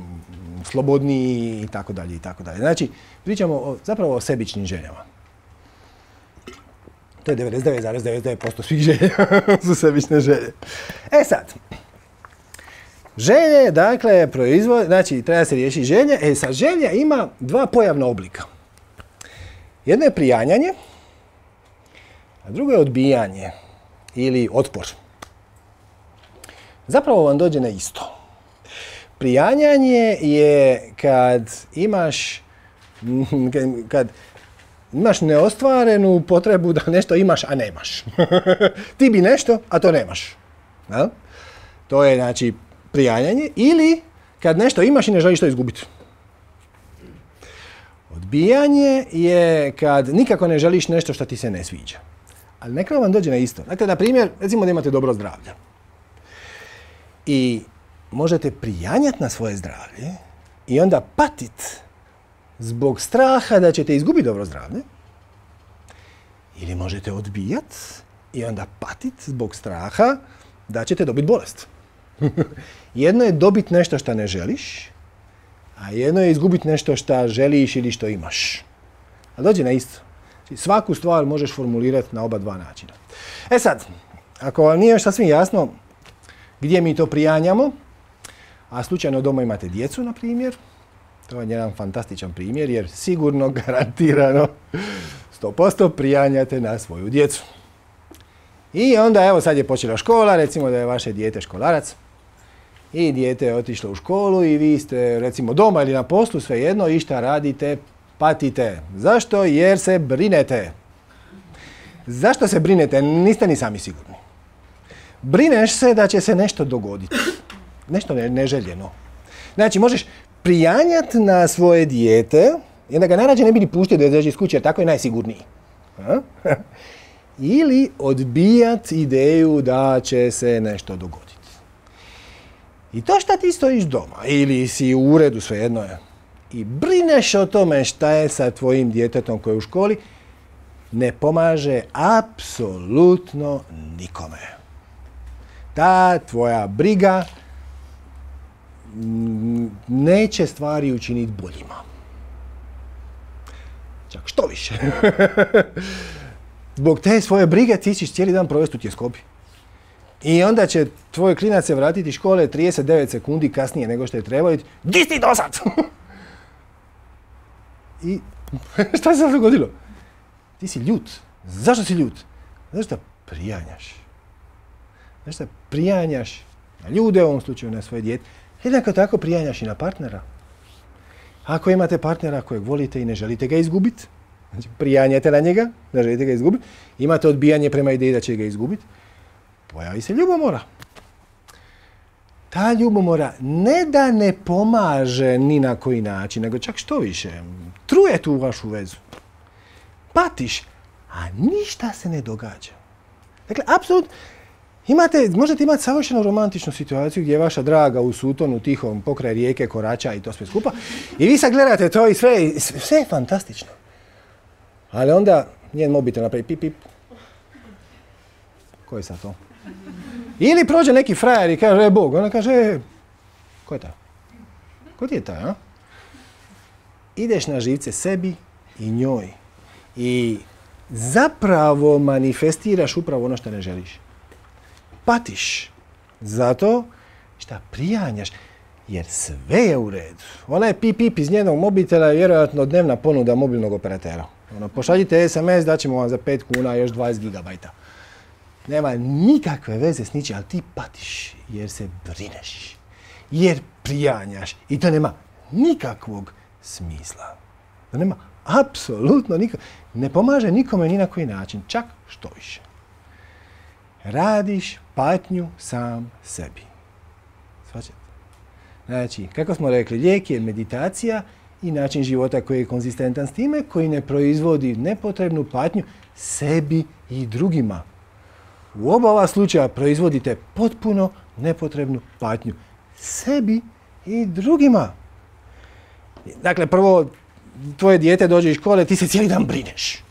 slobodniji i tako dalje i tako dalje. Znači, pričamo zapravo o sebičnim željama. To je 99,99% svih želja su sebične želje. E sad, želje, dakle, znači treba se riješiti želje. Sad, želja ima dva pojavna oblika. Jedno je prijanjanje, a drugo je odbijanje ili otpor. Zapravo vam dođe na isto. Prijanjanje je kad imaš neostvarenu potrebu da nešto imaš, a nemaš. Ti bi nešto, a to nemaš. Ja? To je, znači, prijanjanje. Ili kad nešto imaš i ne želiš to izgubiti. Odbijanje je kad nikako ne želiš nešto što ti se ne sviđa. Ali nekako vam dođe na isto. Dakle, na primjer, recimo da imate dobro zdravlje. I možete prijanjati na svoje zdravlje i onda patit zbog straha da ćete izgubiti dobro zdravlje. Ili možete odbijati i onda patit zbog straha da ćete dobiti bolest. Jedno je dobiti nešto što ne želiš, a jedno je izgubiti nešto što želiš ili što imaš. A dođe na isto. Svaku stvar možeš formulirati na oba dva načina. E sad, ako vam nije još sasvim jasno gdje mi to prijanjamo, a slučajno doma imate djecu, na primjer, to je jedan fantastičan primjer, jer sigurno, garantirano, 100% prijanjate na svoju djecu. I onda, evo, sad je počela škola, recimo da je vaše dijete školarac, i dijete je otišlo u školu i vi ste, recimo, doma ili na poslu, svejedno, i šta radite, patite. Zašto? Jer se brinete. Zašto se brinete? Niste ni sami sigurni. Brineš se da će se nešto dogoditi. Nešto neželjeno. Znači, možeš prijanjati na svoje dijete i onda ga najrađe ne bi ni puštio da izađe iz kuće, jer tako je najsigurniji. Ili odbijati ideju da će se nešto dogoditi. I to šta ti stojiš doma ili si u uredu, svejedno je, i brineš o tome šta je sa tvojim djetetom koji je u školi, ne pomaže apsolutno nikome. Ta tvoja briga neće stvari učiniti boljima. Čak što više. Zbog te svoje brige ti ćeš cijeli dan provesti u tjeskobi. I onda će tvoj klinac se vratiti iz škole 39 sekundi kasnije nego što je trebao i di si dosad? I šta se sad dogodilo? Ti si ljut. Zašto si ljut? Zato što prijanjaš. Zato što prijanjaš na ljude, u ovom slučaju na svoje dijete. Jednako tako prijanjaš i na partnera. Ako imate partnera kojeg volite i ne želite ga izgubiti, znači prijanjate na njega, ne želite ga izgubiti, imate odbijanje prema ideji da će ga izgubiti, pojavi se ljubomora. Ta ljubomora ne da ne pomaže ni na koji način, nego čak što više, truje tu vašu vezu. Patiš, a ništa se ne događa. Dakle, apsolutno, možete imati savršeno romantičnu situaciju gdje je vaša draga u Sutonu tihom pokraj rijeke korača i to sve skupa. I vi sad gledate to i sve je fantastično. Ali onda njen mobitel napravi pip pip. Ko je sad to? Ili prođe neki frajer i kaže, Bog, ona kaže, ko je taj? Ko ti je taj, a? Ideš na živce sebi i njoj. I zapravo manifestiraš upravo ono što ne želiš. Patiš. Zato šta prijanjaš. Jer sve je u redu. Ona je pip iz njenog mobitela je vjerojatno dnevna ponuda mobilnog operatera. Pošaljite SMS, daćemo vam za 5 kuna još 20 gigabajta. Nema nikakve veze s ničim, ali ti patiš jer se brineš. Jer prijanjaš. I to nema nikakvog smisla. To nema apsolutno nikakvog. Ne pomaže nikome ni na koji način. Čak što više. Radiš patnju sam sebi. Svačate? Znači, kako smo rekli, lijek je meditacija i način života koji je konzistentan s time, koji ne proizvodi nepotrebnu patnju sebi i drugima. U oba ova slučaja proizvodite potpuno nepotrebnu patnju sebi i drugima. Dakle, prvo, tvoje dijete dođe iz škole, ti se cijeli dan brineš.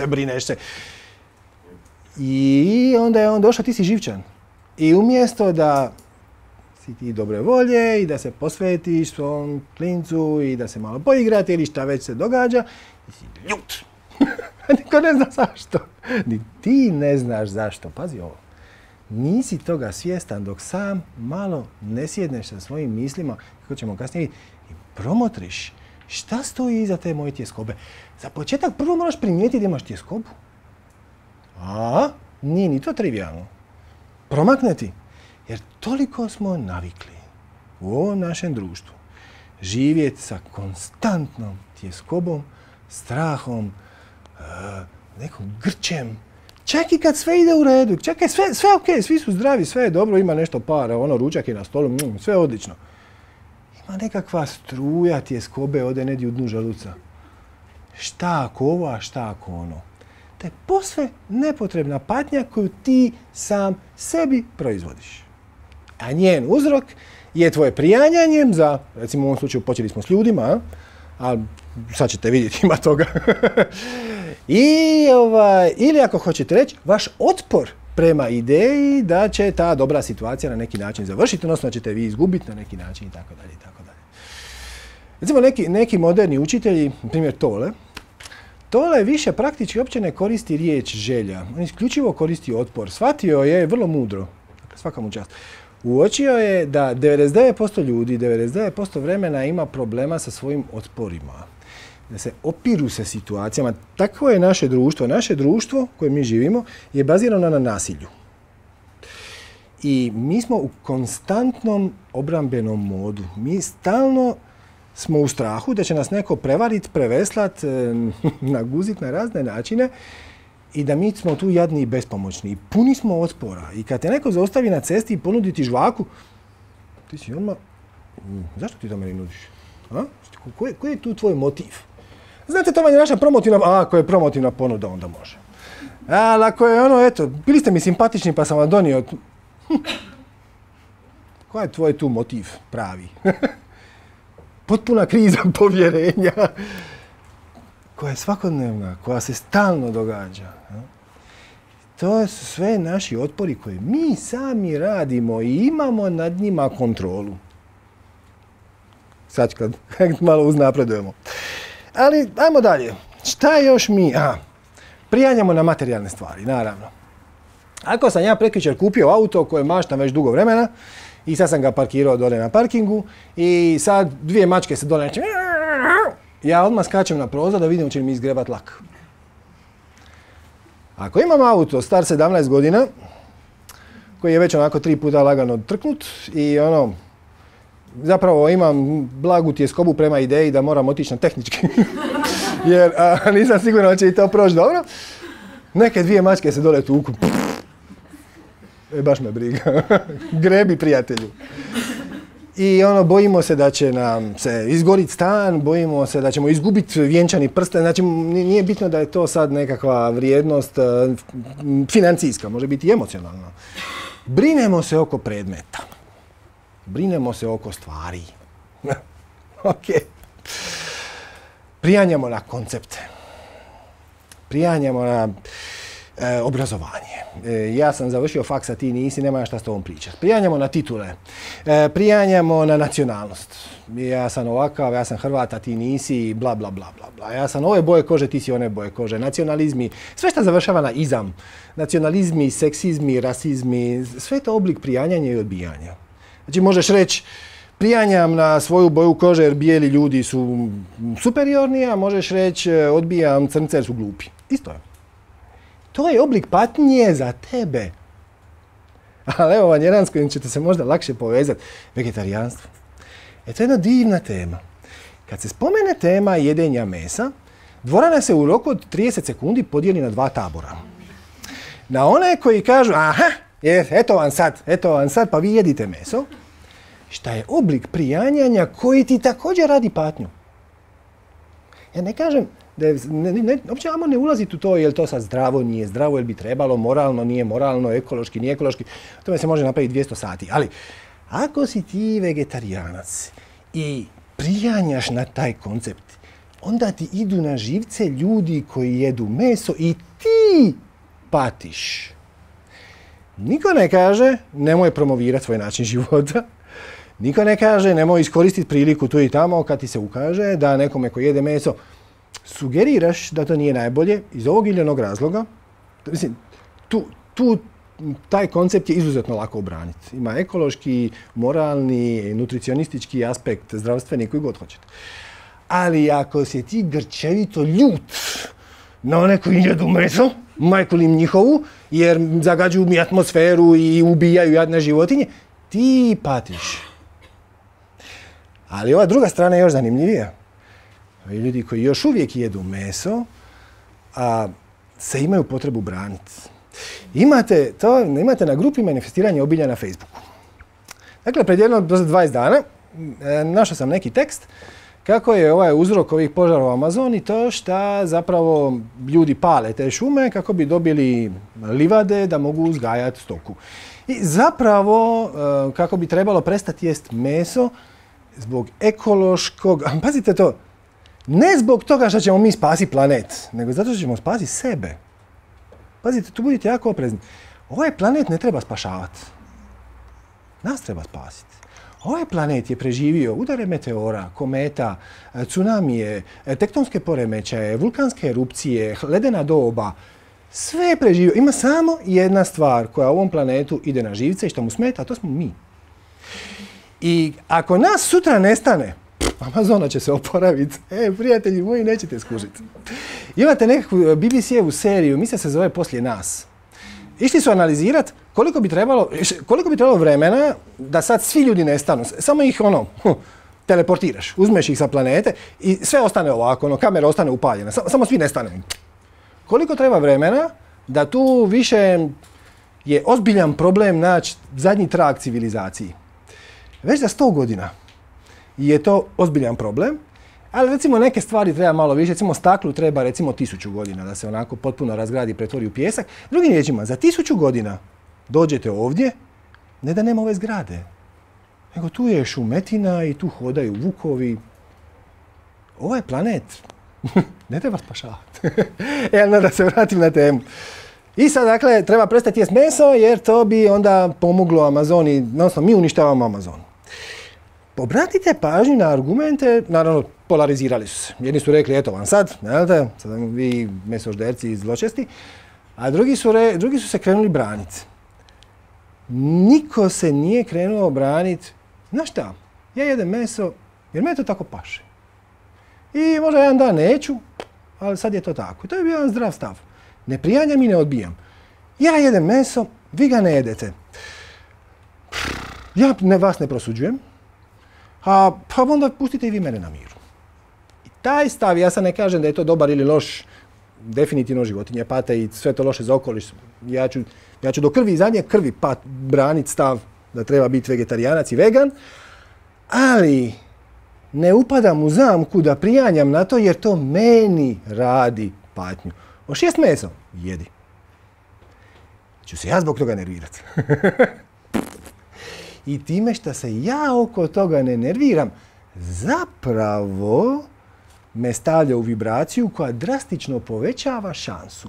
Brineš se. I onda je on došao, ti si živčan. I umjesto da si ti dobre volje i da se posvetiš svom klincu i da se malo poigrate ili šta već se događa, ti si ljut. Niko ne zna zašto. Ni ti ne znaš zašto. Pazi ovo. Nisi toga svjestan dok sam malo ne sjedneš sa svojim mislima, kako ćemo kasnije vidjeti, i promotriš šta stoji iza te moje tjeskobe. Za početak prvo moraš primijetiti da imaš tjeskobu. A, nije ni to trivijalno. Promakne ti. Jer toliko smo navikli u ovom našem društvu živjeti sa konstantnom tjeskobom, strahom, nekom grčem. Čak i kad sve ide u redu, čak je sve ok, svi su zdravi, sve je dobro, ima nešto para, ručak je na stolu, sve je odlično. Ima nekakva struja tjeskobe ode negdje u dnu želuca. Šta ako ovo, a šta ako ono? To je posve nepotrebna patnja koju ti sam sebi proizvodiš. A njen uzrok je tvoje prijanjanje za, recimo u ovom slučaju počeli smo s ljudima, ali sad ćete vidjeti, ima toga. Ili ako hoćete reći, vaš otpor prema ideji da će ta dobra situacija na neki način završiti, odnosno da ćete vi izgubiti na neki način itd. Recimo neki moderni učitelji, na primjer Tole više praktički uopće ne koristi riječ želja. On isključivo koristi otpor. Shvatio je vrlo mudro, dakle svaka mu čast. Uočio je da 99% ljudi, 99% vremena ima problema sa svojim otporima. Da se opiru se situacijama. Takvo je naše društvo. Naše društvo koje mi živimo je bazirano na nasilju. I mi smo u konstantnom obrambenom modu. Mi stalno smo u strahu da će nas neko prevariti, preveslat, naguziti na razne načine i da mi smo tu jadni i bespomoćni. I puni smo otpora. I kad te neko zaustavi na cesti i ponudi ti žvaku, ti si odmah, zašto ti to meni nudiš? A? Koji je tu tvoj motiv? Znate, to vam je naša promotivna, ako je promotivna ponuda, onda može. Ali ako je eto, bili ste mi simpatični pa sam vam donio. Koji je tvoj tu motiv pravi? Potpuna kriza povjerenja koja je svakodnevna, koja se stalno događa. To su sve naši otpori koje mi sami radimo i imamo nad njima kontrolu. Sad kad malo uznapredujemo. Ali, ajmo dalje. Šta još mi? Prijanjamo na materijalne stvari, naravno. Ako sam ja prekjučer kupio auto koje maštam već dugo vremena, i sad sam ga parkirao dole na parkingu i sad dvije mačke se dole neće. Ja odmah skačem na prozor da vidim će mi izgrebat lak. Ako imam auto star 17 godina, koji je već onako 3 puta lagano trknut i zapravo imam blagu tjeskobu prema ideji da moram otići na tehnički, jer nisam siguran da će i to proći dobro, neke dvije mačke se dole tuku. baš me briga. Grebi, prijatelju. I bojimo se da će nam se izgoriti stan, bojimo se da ćemo izgubiti vjenčani prsten. Znači, nije bitno da je to sad nekakva vrijednost financijska, može biti i emocionalna. Brinemo se oko predmeta. Brinemo se oko stvari. Ok. Prijanjamo na koncepte. Prijanjamo na obrazovanje. Ja sam završio faks, a ti nisi, nema šta s tobom pričati. Prijanjamo na titule. Prijanjamo na nacionalnost. Ja sam ovakav, ja sam Hrvat, a ti nisi, bla, bla, bla, bla, bla. Ja sam ove boje kože, ti si one boje kože. Nacionalizmi, sve što završava na izam. Nacionalizmi, seksizmi, rasizmi, sve je to oblik prijanjanja i odbijanja. Znači, možeš reći, prijanjam na svoju boju kože jer bijeli ljudi su superiorni, a možeš reći, odbijam crnce jer su glupi. Isto je. To je oblik patnje za tebe. Ali evo vam jedan s kojim ćete se možda lakše povezati. Vegetarijanstvo. To je jedna divna tema. Kad se spomene tema jedenja mesa, dvorana se u roku od 30 sekundi podijeli na dva tabora. Na one koji kažu, aha, eto vam sad, pa vi jedite meso. Šta je oblik prijanjanja koji ti također radi patnju. Ja ne kažem, uopće ne ulaziti u to je li to sad zdravo, nije zdravo, je li bi trebalo, moralno, nije moralno, ekološki, nije ekološki. O tome se može napraviti 200 sati. Ali ako si ti vegetarijanac i prijanjaš na taj koncept, onda ti idu na živce ljudi koji jedu meso i ti patiš. Niko ne kaže nemoj promovirati svoj način života. Niko ne kaže nemoj iskoristiti priliku tu i tamo kad ti se ukaže da nekome koji jede meso sugeriraš da to nije najbolje iz ovog ili onog razloga. Mislim, taj koncept je izuzetno lako obraniti. Ima ekološki, moralni, nutricionistički aspekt, zdravstveni, koji god hoćete. Ali ako si ti grčevito ljut na one koji jedu meso, majku li im njihovu, jer zagađuju mi atmosferu i ubijaju jadne životinje, ti patiš. Ali ova druga strana je još zanimljivija. Ljudi koji još uvijek jedu meso, a se imaju potrebu braniti. Imate na grupi manifestiranje obilja na Facebooku. Dakle, pred jedno 20 dana našao sam neki tekst kako je uzrok ovih požara u Amazoni to što zapravo ljudi pale te šume kako bi dobili livade da mogu uzgajati stoku. I zapravo kako bi trebalo prestati jest meso zbog ekološkog, pazite to, ne zbog toga što ćemo mi spasiti planet, nego zato što ćemo spasiti sebe. Pazite, tu budite jako oprezni. Ovaj planet ne treba spašavati. Nas treba spasiti. Ovaj planet je preživio udare meteora, kometa, tsunamije, tektonske poremećaje, vulkanske erupcije, ledena doba. Sve je preživio. Ima samo jedna stvar koja ovom planetu ide na živce i što mu smeta, a to smo mi. I ako nas sutra nestane, Amazona će se oporaviti. Prijatelji moji, nećete skužiti. Imate nekakvu BBC-evu seriju, mislim se zove Poslije nas. Išli su analizirati koliko bi trebalo vremena da sad svi ljudi nestanu. Samo ih teleportiraš, uzmeš ih sa planete i sve ostane ovako, kamera ostane upaljena, samo svi nestane. Koliko treba vremena da tu više je ozbiljan problem naći zadnji trag civilizaciji. Već za 100 godina je to ozbiljan problem, ali recimo neke stvari treba malo više, recimo staklu treba recimo 1000 godina da se onako potpuno razgradi i pretvori u pijesak. Drugim riječima, za 1000 godina dođete ovdje, ne da nema ove zgrade, nego tu je šumetina i tu hodaju vukovi. Ovaj planet ne treba spašavati. Da se vratim na temu. I sad, dakle, treba prestati jest meso jer to bi onda pomoglo Amazoni, odnosno mi uništavamo Amazon. Obratite pažnju na argumente, naravno polarizirali su se. Jedni su rekli, eto vam sad vi mesožderci zločesti, a drugi su se krenuli braniti. Niko se nije krenuo braniti, znaš šta, ja jedem meso jer me to tako paše. I možda jedan dan neću, ali sad je to tako. To je bio jedan zdrav stav. Ne prijanjam i ne odbijam. Ja jedem meso, vi ga ne jedete. Ja vas ne prosuđujem, pa onda pustite i vi mene na miru. I taj stav, ja sad ne kažem da je to dobar ili loš definitivno životinje pate i sve to loše za okoliš. Ja ću do krvi i zadnje krvi braniti stav da treba biti vegetarijanac i vegan, ali ne upadam u zamku da prijanjam na to jer to meni radi patnju. Hoćeš jest meso? Jedi. Ću se ja zbog toga nervirati. I time što se ja oko toga ne nerviram, zapravo me stavlja u vibraciju koja drastično povećava šansu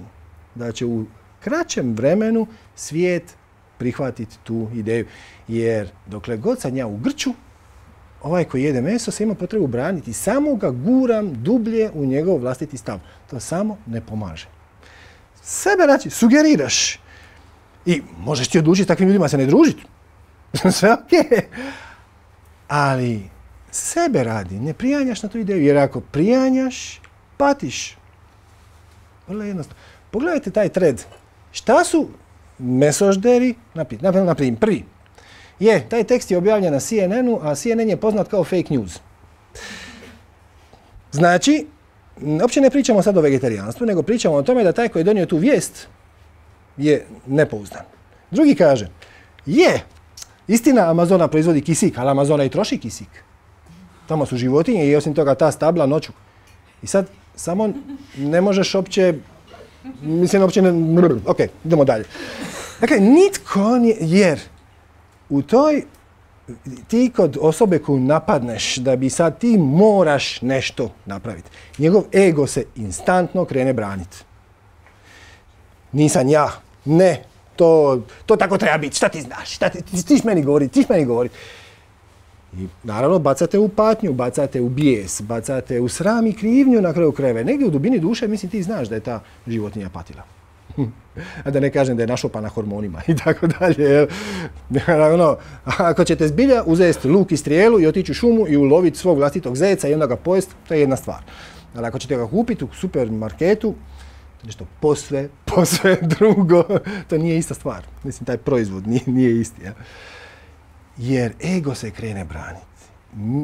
da će u kraćem vremenu svijet prihvatiti tu ideju. Jer dokle god sam ja u grču, ovaj koji jede meso se ima potrebu braniti. Samo ga guram dublje u njegov vlastiti stav. To samo ne pomaže. Sebe znači, sugeriraš. I možeš ti odlučiti s takvim ljudima se ne družiti. Sve okej. Ali sebe radi, ne prijanjaš na tu ideju. Jer ako prijanjaš, patiš. Vrlo jednostavno. Pogledajte taj thread. Šta su mesožderi? Na primjer, prvi. Taj tekst je objavljen na CNN-u, a CNN je poznat kao fake news. Znači, uopće ne pričamo sad o vegetarijanstvu, nego pričamo o tome da taj koji je donio tu vijest je nepouzdan. Drugi kaže, istina Amazona proizvodi kisik, ali Amazona i troši kisik. Tamo su životinje i osim toga ta stabla noću. I sad samo ne možeš uopće, ok, idemo dalje. Dakle, nitko nije, jer u toj, ti kod osobe koju napadneš da bi sad ti moraš nešto napraviti, njegov ego se instantno krene braniti. Nisam ja, ne, to tako treba biti, šta ti znaš, tiš meni govori. I naravno bacate u patnju, bacate u bijes, bacate u sram i krivnju na kraju krajeva. Negdje u dubini duše, mislim, ti znaš da je ta životinja patila. A da ne kažem da je našopana hormonima i tako dalje. Ako ćete zbilja uzeti luk i strijelu i otići u šumu i uloviti svog vlastitog zeca i onda ga pojesti, to je jedna stvar. Ali ako ćete ga kupiti u supermarketu, nešto posve drugo, to nije ista stvar. Mislim, taj proizvod nije isti. Ja? Jer ego se krene braniti.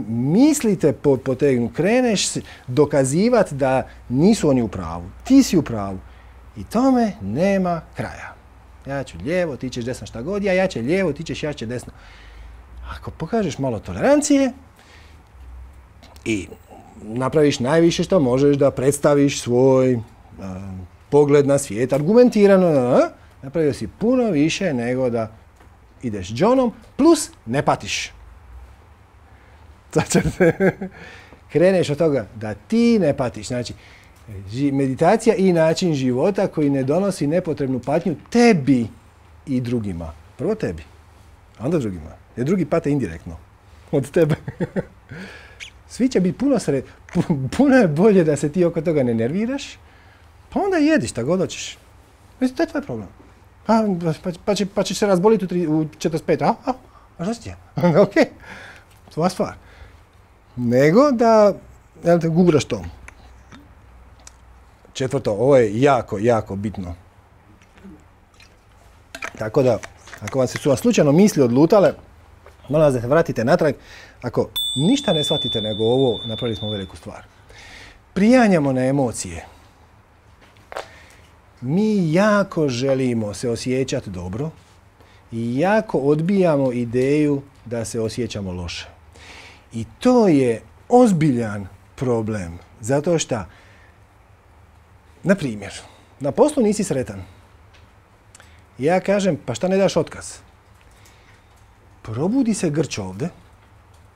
Mislite potegnu, kreneš dokazivati da nisu oni u pravu. Ti si u pravu. I tome nema kraja. Ja ću lijevo, ti ćeš desno, šta god ja će lijevo, ti ćeš ja će desno. Ako pokažeš malo tolerancije i napraviš najviše što možeš da predstaviš svoj pogled na svijet argumentirano, napravio si puno više nego da ideš džonom, plus ne patiš. Kreneš od toga da ti ne patiš. Znači, meditacija i način života koji ne donosi nepotrebnu patnju tebi i drugima. Prvo tebi, a onda drugima. Jer drugi pate indirektno od tebe. Svi će biti puno je bolje da se ti oko toga ne nerviraš, pa onda jedi šta god hoćeš. Mislim, to je tvoj problem. Pa ćeš se razboliti u 45. A šta si ti? Ok, tvoja stvar. Nego da guraš to. Četvrto, ovo je jako bitno. Tako da, ako su vam slučajno misli odlutale, molim vas da se vratite natrag. Ako ništa ne shvatite nego ovo, napravili smo veliku stvar. Prijanjamo na emocije. Mi jako želimo se osjećati dobro i jako odbijamo ideju da se osjećamo loše. I to je ozbiljan problem. Zato što, na primjer, na poslu nisi sretan. Ja kažem, pa šta ne daš otkaz? Probudi se grč ovdje,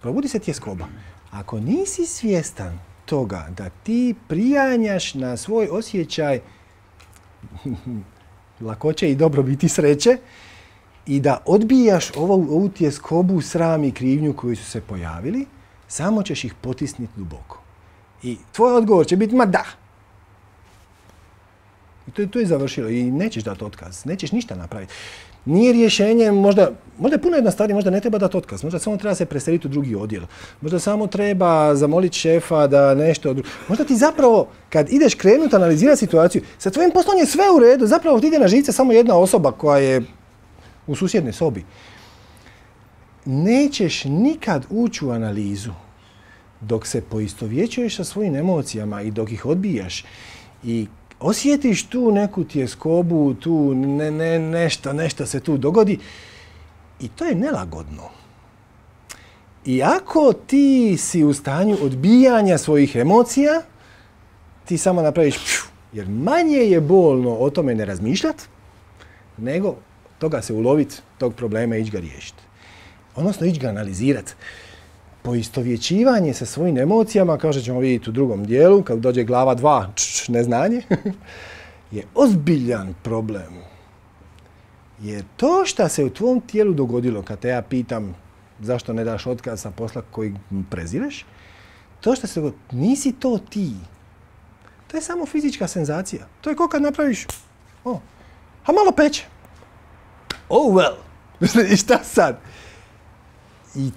probudi se tjeskoba. Ako nisi svjestan toga da ti prijanjaš na svoj osjećaj lakoće i dobrobiti sreće i da odbijaš ovu tjeskobu, sram i krivnju koji su se pojavili, samo ćeš ih potisniti duboko. I tvoj odgovor će biti, ma da. I to je završilo i nećeš dati otkaz, nećeš ništa napraviti. Nije rješenje, možda je puno jednostavnije, možda ne treba dati otkaz, možda samo treba se preseliti u drugi odjel, možda samo treba zamoliti šefa da nešto drugo. Možda ti zapravo, kad ideš krenuti analizirati situaciju, sa tvojim poslom je sve u redu, zapravo ti ide na živce samo jedna osoba koja je u susjednoj sobi. Nećeš nikad ući u analizu dok se poistovjećuješ sa svojim emocijama i dok ih odbijaš. I osjetiš tu neku tjeskobu, tu nešto se tu dogodi i to je nelagodno. I ako ti si u stanju odbijanja svojih emocija, ti samo napraviš jer manje je bolno o tome ne razmišljati, nego toga se uloviti, tog problema i ići ga riješiti. Odnosno ići ga analizirati. Poistovjećivanje sa svojim emocijama, kao što ćemo vidjeti u drugom dijelu, kad dođe glava 2, neznanje, je ozbiljan problem. Jer to što se u tvom tijelu dogodilo, kad te ja pitam zašto ne daš otkaz sa posla koji prezireš, to što se dogodilo, nisi to ti. To je samo fizička senzacija. To je kao kad napraviš, a malo peče. Oh well. I šta sad? I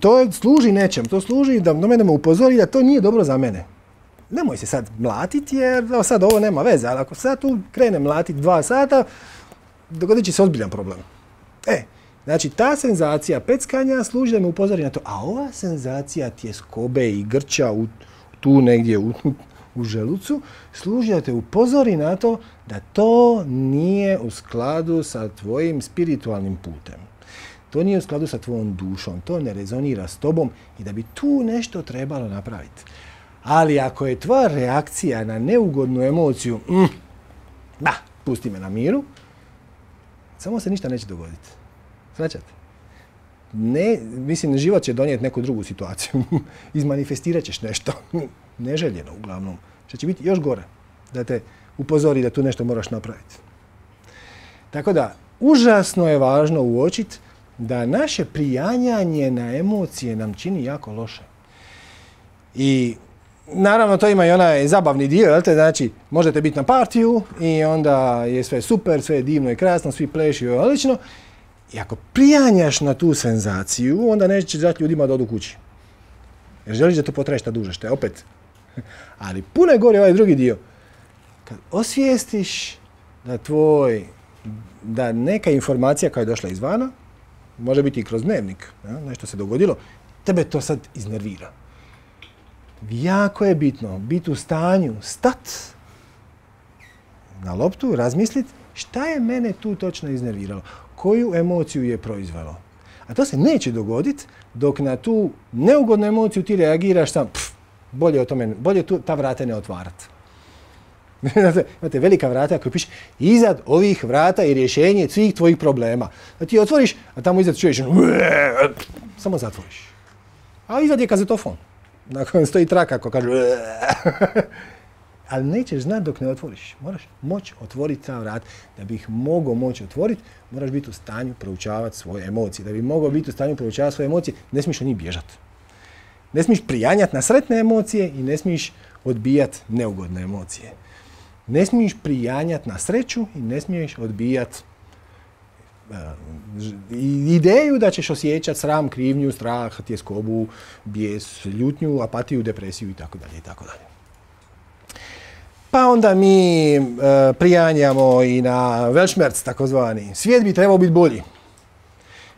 to služi nečem. To služi da mene upozori da to nije dobro za mene. Nemoj se sad mlatiti jer sad ovo nema veze. Ali ako sad tu krene mlatiti 2 sata, dogodit će se ozbiljan problem. Znači ta senzacija peckanja služi da me upozori na to. A ova senzacija tjeskobe i grča tu negdje u želucu služi da te upozori na to da to nije u skladu sa tvojim spiritualnim putem. To nije u skladu sa tvojom dušom, to ne rezonira s tobom i da bi tu nešto trebalo napraviti. Ali ako je tvoja reakcija na neugodnu emociju, pusti me na miru, samo se ništa neće dogoditi. Svaćate? Mislim, život će donijeti neku drugu situaciju. Izmanifestirat ćeš nešto. Neželjeno, uglavnom. Što će biti još gore. Da te upozori da tu nešto moraš napraviti. Tako da, užasno je važno uočiti da naše prijanjanje na emocije nam čini jako loše. I naravno to ima i onaj zabavni dio, jel te? Znači, možete biti na partiju i onda je sve super, sve je divno i krasno, svi pleši i odlično. I ako prijanjaš na tu senzaciju, onda nećeš dati ljudima da odu kući. Jer želiš da to potraje šta duže, što je opet. Ali puno je gore ovaj drugi dio. Kad osvijestiš da neka informacija koja je došla izvana, može biti i kroz dnevnik, nešto se dogodilo, tebe to sad iznervira. Jako je bitno biti u stanju stat na loptu, razmisliti šta je mene tu točno iznerviralo, koju emociju je proizvelo. A to se neće dogoditi dok na tu neugodnu emociju ti reagiraš sam, bolje ta vrata ne otvarati. Imate velika vrata koja piše iznad ovih vrata je rješenje svih tvojih problema. Da ti otvoriš, a tamo iznad čuješ samo zatvoriš. A iznad je kazetofon. Nakon stoji traka koja kaže ali nećeš znati dok ne otvoriš. Moraš moći otvoriti ta vrata. Da bi ih mogao moći otvoriti, moraš biti u stanju proučavati svoje emocije. Da bi mogao biti u stanju proučavati svoje emocije, ne smiješ od njih bježati. Ne smiješ prijanjati na sretne emocije i ne smiješ odbijati neugodne emocije. Ne smiješ prijanjati na sreću i ne smiješ odbijati ideju da ćeš osjećati sram, krivnju, strah, tjeskobu, bijes, ljutnju, apatiju, depresiju itd. Pa onda mi prijanjamo i na Weltschmerz, takozvani. Svijet bi trebao biti bolji.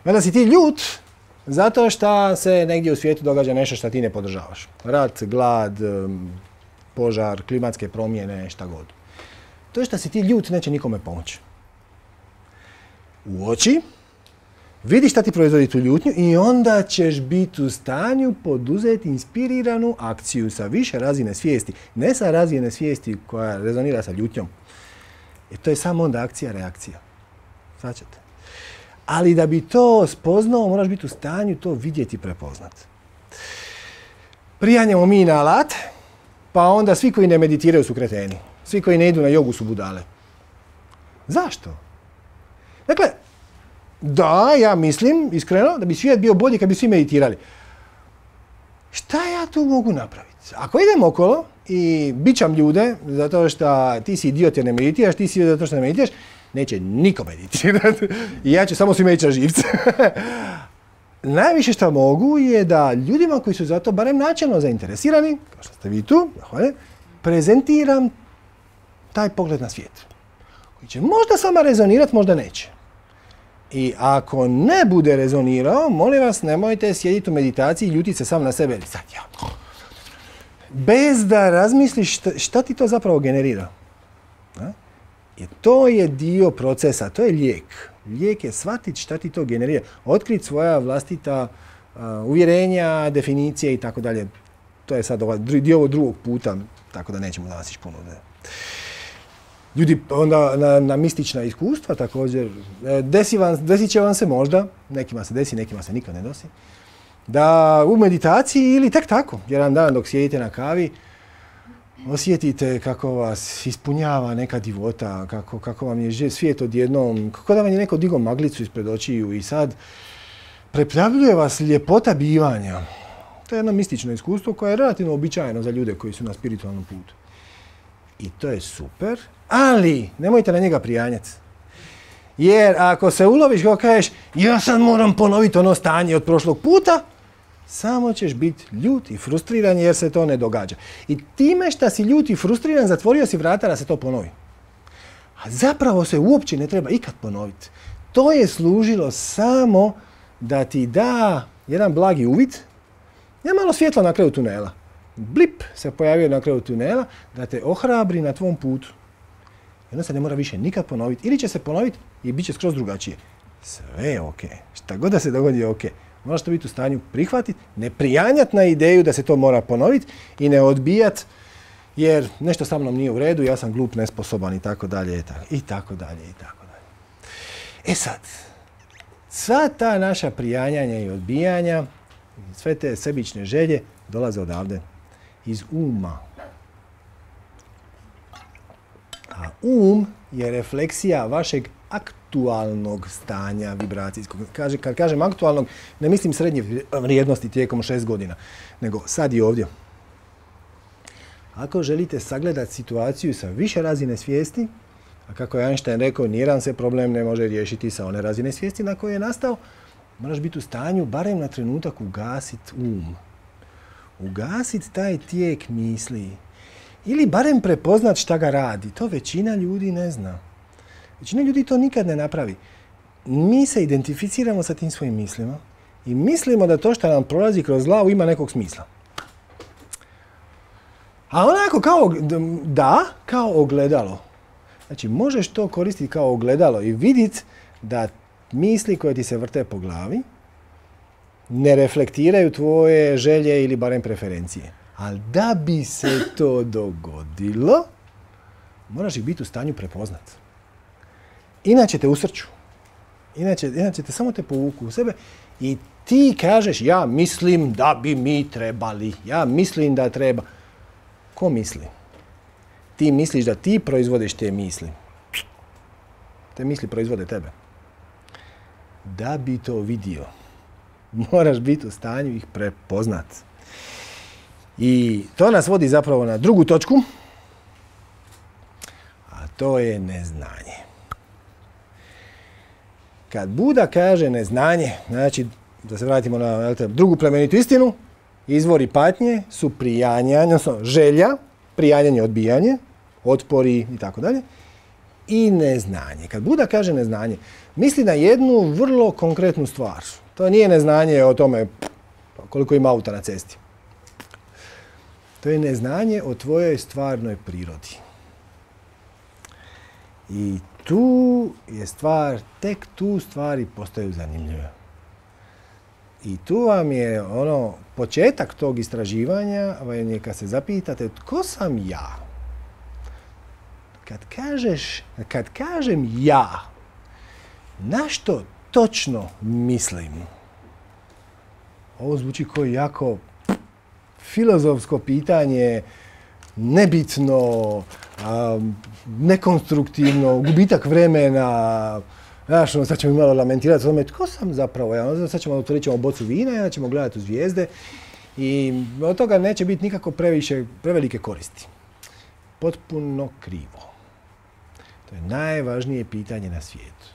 Onda si ti ljut zato što se negdje u svijetu događa nešto što ti ne podržavaš. Rat, glad, požar, klimatske promjene, šta god. To što si ti ljut neće nikome pomoći. Uoči, vidi šta ti proizvodi tu ljutnju i onda ćeš biti u stanju poduzeti inspiriranu akciju sa više razine svijesti. Ne sa razine svijesti koja rezonira sa ljutnjom. Jer to je samo onda akcija-reakcija. Svaćate? Ali da bi to spoznao, moraš biti u stanju to vidjeti i prepoznati. Prijanjamo mi na alat, pa onda svi koji ne meditiraju su kreteni. Svi koji ne idu na jogu su budale. Zašto? Dakle, da, ja mislim, iskreno, da bi svijet bio bolji kad bi svi meditirali. Šta ja tu mogu napraviti? Ako idem okolo i bićam ljude zato što ti si idiot jer ne meditiraš, ti si idiot zato što ne meditiraš, neće niko meditirati. I ja ću samo svima ići na živce. Najviše što mogu je da ljudima koji su za to barem načelno zainteresirani, kao što ste vi tu, prezentiram taj pogled na svijet. Koji će možda sama rezonirati, možda neće. I ako ne bude rezonirao, molim vas, nemojte sjediti u meditaciji i ljutiti se sam na sebe. Sad ja. Bez da razmisliš šta ti to zapravo generira. I to je dio procesa, to je lijek. Lijek je shvatiti šta ti to generira, otkriti svoja vlastita uvjerenja, definicije i tako dalje. To je sad dio ovog drugog puta, tako da nećemo danas ići puno. Ljudi onda na mistična iskustva također, desit će vam se možda, nekima se desi, nekima se nikad ne desi, da u meditaciji ili tek tako, jedan dan dok sjedite na kavi, osjetite kako vas ispunjava neka divota, kako vam je svijet odjednom, kako da vam je neko digao maglicu ispred očiju i sad preplavljuje vas ljepota bivanja. To je jedno mistično iskustvo koje je relativno uobičajeno za ljude koji su na spiritualnom putu. I to je super, ali nemojte na njega prijanjati. Jer ako se uloviš kako kažeš, ja sad moram ponoviti ono stanje od prošlog puta, samo ćeš biti ljut i frustriran jer se to ne događa. I time što si ljut i frustriran, zatvorio si vrata da se to ponovi. A zapravo se uopće ne treba ikad ponoviti. To je služilo samo da ti da jedan blagi uvid, je malo svjetla na kraju tunela. Blip se pojavio na kraju tunela da te ohrabri na tvom putu. Jedno se ne mora više nikad ponoviti. Ili će se ponoviti i bit će skroz drugačije. Sve je ok. Šta god da se dogodi je ok. Moraš to biti u stanju prihvatiti, ne prijanjati na ideju da se to mora ponoviti i ne odbijati jer nešto sa mnom nije u redu, ja sam glup, nesposoban i tako dalje i tako dalje i tako dalje. E sad, sva ta naša prijanjanja i odbijanja, sve te sebične želje dolaze odavde, iz uma. A je refleksija vašeg aktualnog stanja vibracijskog. Kad kažem aktualnog, ne mislim srednje vrijednosti tijekom 6 godina, nego sad i ovdje. Ako želite sagledati situaciju sa više razine svijesti, a kako je Einstein rekao, nijedan se problem ne može riješiti sa one razine svijesti na kojoj je nastao, moraš biti u stanju barem na trenutak ugasiti ugasiti taj tijek misli. Ili barem prepoznat šta ga radi. To većina ljudi ne zna. Većina ljudi to nikad ne napravi. Mi se identificiramo sa tim svojim mislima i mislimo da to što nam prolazi kroz glavu ima nekog smisla. A onako kao ogledalo. Znači, možeš to koristiti kao ogledalo i vidjeti da misli koje ti se vrte po glavi ne reflektiraju tvoje želje ili barem preferencije. Ali da bi se to dogodilo, moraš ih biti u stanju prepoznati. Inače te usrću. Inače te samo te povuku u sebe i ti kažeš ja mislim da bi mi trebali. Ja mislim da treba. Ko misli? Ti misliš da ti proizvodiš te misli. Te misli proizvode tebe. Da bi to vidio, moraš biti u stanju ih prepoznati. I to nas vodi zapravo na drugu točku, a to je neznanje. Kad Buda kaže neznanje, znači, da se vratimo na drugu plemenitu istinu, izvori patnje su prijanjanje, odnosno želja, prijanjanje, odbijanje, otpori i tako dalje, i neznanje. Kad Buda kaže neznanje, misli na jednu vrlo konkretnu stvar. To nije neznanje o tome koliko ima auta na cesti. To je neznanje o tvojoj stvarnoj prirodi. I tu je stvar, tek tu stvari postaju zanimljive. I tu vam je početak tog istraživanja, vam je kad se zapitate tko sam ja? Kad kažem ja, na što točno mislim? Ovo zvuči kao jako filozofsko pitanje, nebitno, nekonstruktivno, gubitak vremena. Znaš, sad ćemo malo lamentirati o tome tko sam zapravo. Sad ćemo otvorit ćemo bocu vina i onda ćemo gledati u zvijezde i od toga neće biti nikako prevelike koristi. Potpuno krivo. To je najvažnije pitanje na svijetu.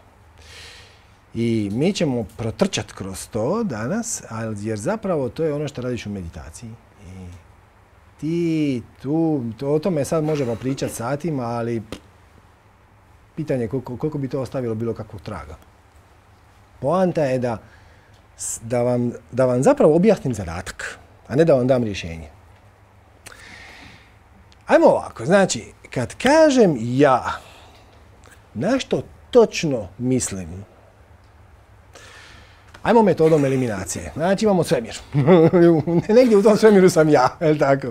I mi ćemo protrčati kroz to danas, jer zapravo to je ono što radiš u meditaciji. I ti tu, o tome sad možemo pričati satima, ali pitanje je koliko bi to ostavilo bilo kakvog traga. Poanta je da vam zapravo objasnim zadatak, a ne da vam dam rješenje. Ajmo ovako, znači, kad kažem ja, na što točno mislim? Ajmo metodom eliminacije. Znači imamo svemir. Negdje u tom svemiru sam ja, je li tako?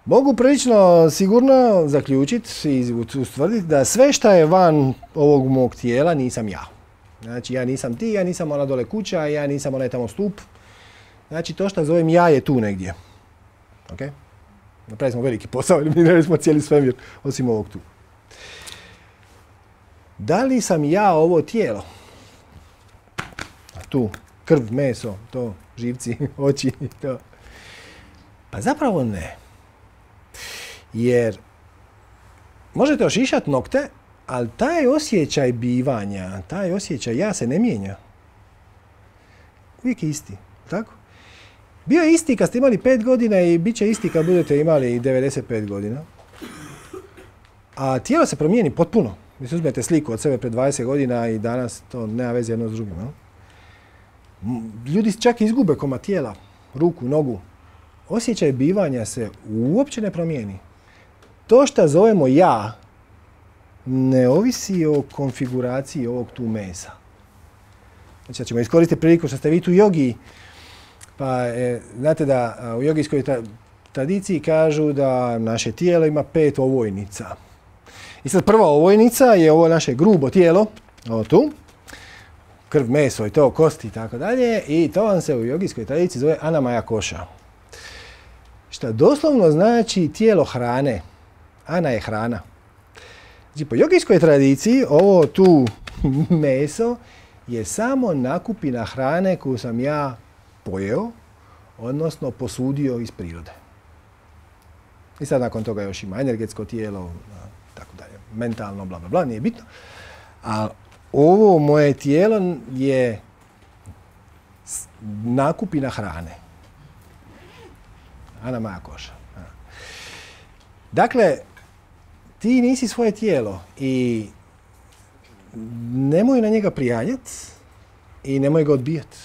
Mogu prilično sigurno zaključiti i ustvrditi da sve što je van ovog mog tijela nisam ja. Znači ja nisam ti, ja nisam ona dole kuća, ja nisam onaj tamo stup. Znači to što zovem ja je tu negdje. Ok? Napravili smo veliki posao, eliminirali smo cijeli svemir, osim ovog tu. Da li sam ja ovo tijelo? Tu, krv, meso, to, živci, oči, to. Pa zapravo ne. Jer možete ošišati nokte, ali taj osjećaj bivanja, taj osjećaj ja se ne mijenja. Uvijek je isti, tako? Bio je isti kad ste imali 5 godina i bit će isti kad budete imali 95 godina. A tijelo se promijeni potpuno. Vi uzmete sliku od sebe pred 20 godina i danas to nema veze jedno s drugim. No? Ljudi čak izgube komad tijela, ruku, nogu. Osjećaj bivanja se uopće ne promijeni. To što zovemo ja ne ovisi o konfiguraciji ovog tu mesa. Znači, ćemo iskoristiti priliku što ste vi tu jogi, pa znate da u jogijskoj tradiciji kažu da naše tijelo ima 5 ovojnica. I sad prva ovojnica je ovo naše grubo tijelo, ovo tu, krv, meso i to, kosti i tako dalje, i to vam se u jogijskoj tradiciji zove anamaya koša. Što doslovno znači tijelo hrane. Ana je hrana. Znači, po jogijskoj tradiciji ovo tu meso je samo nakupina hrane koju sam ja pojeo, odnosno posudio iz prirode. I sad nakon toga još ima energetsko tijelo, tako dalje, mentalno, bla, bla, bla, nije bitno. A ovo moje tijelo je nakupina hrane. Anamaya koša. Dakle, ti nisi svoje tijelo i nemoj na njega prijanjati i nemoj ga odbijati.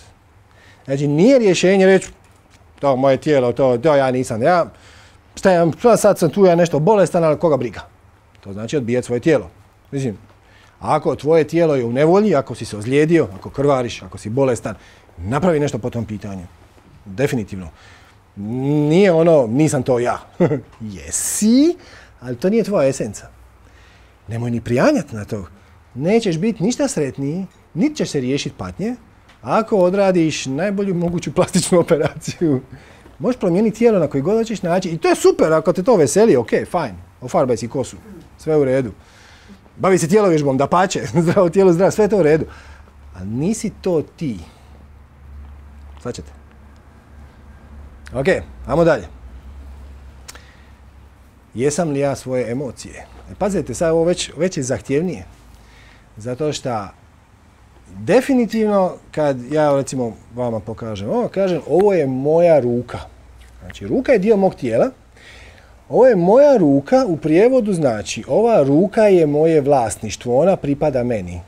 Znači, nije rješenje reći, to moje tijelo, to ja nisam, ja sad sam tu, ja nešto bolestan, ali koga briga. To znači odbijati svoje tijelo. Mislim, ako tvoje tijelo je u nevolji, ako si se ozlijedio, ako krvariš, ako si bolestan, napravi nešto po tom pitanju. Definitivno. Nije ono, nisam to ja. Jesi, ali to nije tvoja esenca. Nemoj ni prijanjati na to. Nećeš biti ništa sretniji, niti ćeš se riješiti patnje, ako odradiš najbolju moguću plastičnu operaciju. Možeš promijeniti tijelo na koji god hoćeš način. I to je super, ako te to veseli, ok, fajn. Ofarbaj si kosu, sve u redu. Bavi se tjelovježbom, dapače, zdravo tijelo, zdravo, sve je to u redu. Ali nisi to ti. Shvaćate? Ok, ajmo dalje. Jesam li ja svoje emocije? Pazite, sad ovo već je zahtjevnije. Zato što definitivno kad ja recimo vama pokažem, ovo je moja ruka. Znači, ruka je dio mog tijela. Ovo je moja ruka, u prijevodu znači, ova ruka je moje vlasništvo, ona pripada meni.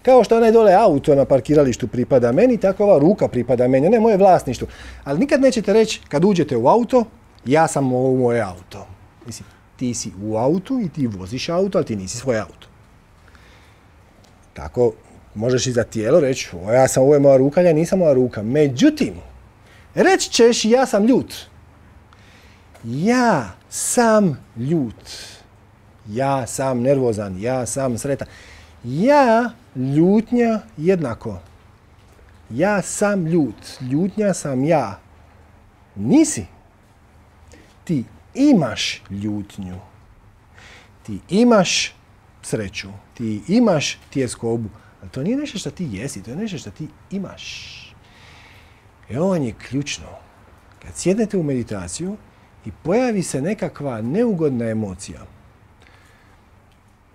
Kao što onaj dole auto na parkiralištu pripada meni, tako ova ruka pripada meni, ne moje vlasništvo. Ali nikad nećete reći, kad uđete u auto, ja sam ovo moje auto. Mislim, ti si u autu i ti voziš auto, ali ti nisi svoj auto. Tako možeš i za tijelo reći, ovo je moja ruka, ja nisam moja ruka. Međutim, reći ćeš ja sam ljut. Ja sam ljut. Ja sam nervozan, ja sam sretan. Ja, ljutnja, jednako. Ja sam ljut. Ljutnja sam ja. Nisi. Ti imaš ljutnju. Ti imaš sreću. Ti imaš tjeskobu. Ali to nije nešto što ti jesi, to je nešto što ti imaš. I ovo je ključno. Kad sjednete u meditaciju i pojavi se nekakva neugodna emocija,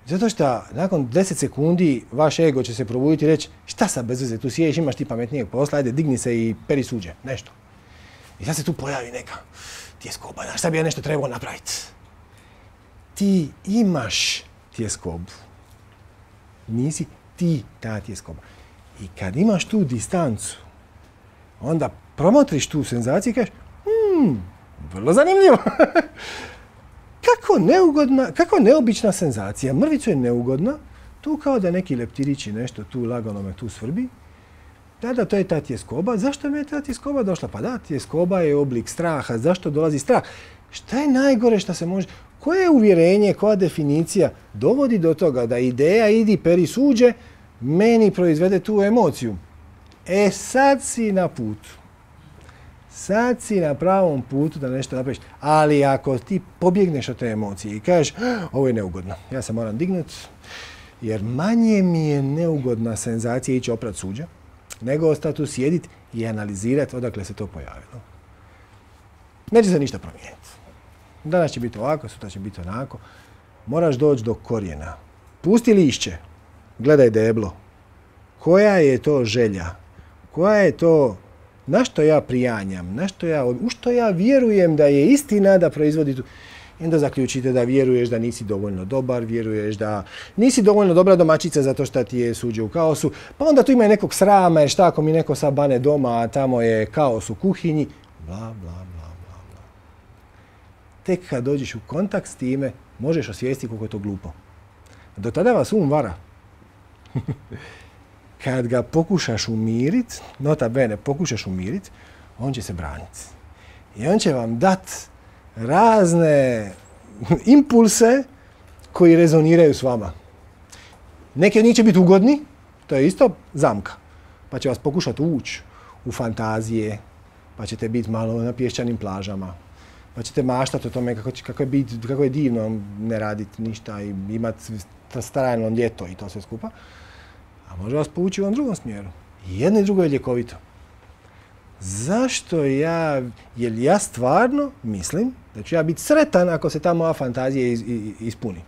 zato što nakon 10 sekundi vaš ego će se probuditi i reći šta sad bez veze, tu sjediš, imaš ti pametnijeg posla, ajde digni se i peri suđe, nešto. I sad se tu pojavi neka tjeskoba, znaš, sad bi ja nešto trebao napraviti. Ti imaš tjeskobu. Nisi ti ta tjeskoba. I kad imaš tu distancu, onda promotriš tu senzaciju i kažeš, vrlo zanimljivo. kako neobična senzacija. Mrvicu je neugodna, tu kao da neki leptirić i nešto tu lagano me tu svrbi. Da, to je ta tjeskoba. Zašto mi je ta tjeskoba došla? Pa da, tjeskoba je oblik straha. Zašto dolazi strah? Šta je najgore što se može... Koje uvjerenje, koja definicija dovodi do toga da ideja idi peri suđe meni proizvede tu emociju? Sad si na putu. Sad si na pravom putu da nešto napraviš. Ali ako ti pobjegneš od te emocije i kažeš ovo je neugodno, ja se moram dignuti, jer manje mi je neugodna senzacija ići oprat suđa, nego ostati tu sjediti i analizirati odakle se to pojavilo. Neće se ništa promijeniti. Danas će biti ovako, sutra će biti onako. Moraš doći do korijena. Pusti lišće. Gledaj deblo. Koja je to želja? Koja je to... Na što ja prijanjam? U što ja vjerujem da je istina da proizvodi tu... I onda zaključite da vjeruješ da nisi dovoljno dobar, vjeruješ da nisi dovoljno dobra domaćica zato što ti je suđe u kaosu, pa onda tu ima i nekog srama, jer šta ako mi neko sad bane doma, a tamo je kaos u kuhinji, bla, bla, bla, bla, bla. Tek kad dođeš u kontakt s time, možeš osvijestiti koliko je to glupo. Do tada vas vara. Kad ga pokušaš umirit, nota bene, pokušaš umirit, on će se braniti. I on će vam dat razne impulse koji rezoniraju s vama. Neki od njih će biti ugodni, to je isto zamka. Pa će vas pokušati ući u fantazije, pa ćete biti malo na pješčanim plažama, pa ćete maštati o tome kako je divno ne raditi ništa i imati trajno ljeto i to sve skupa. A može vas povući u ovom drugom smjeru. I jedno i drugo je ljekovito. Zašto jer ja stvarno mislim da ću ja biti sretan ako se ta moja fantazija ispuni.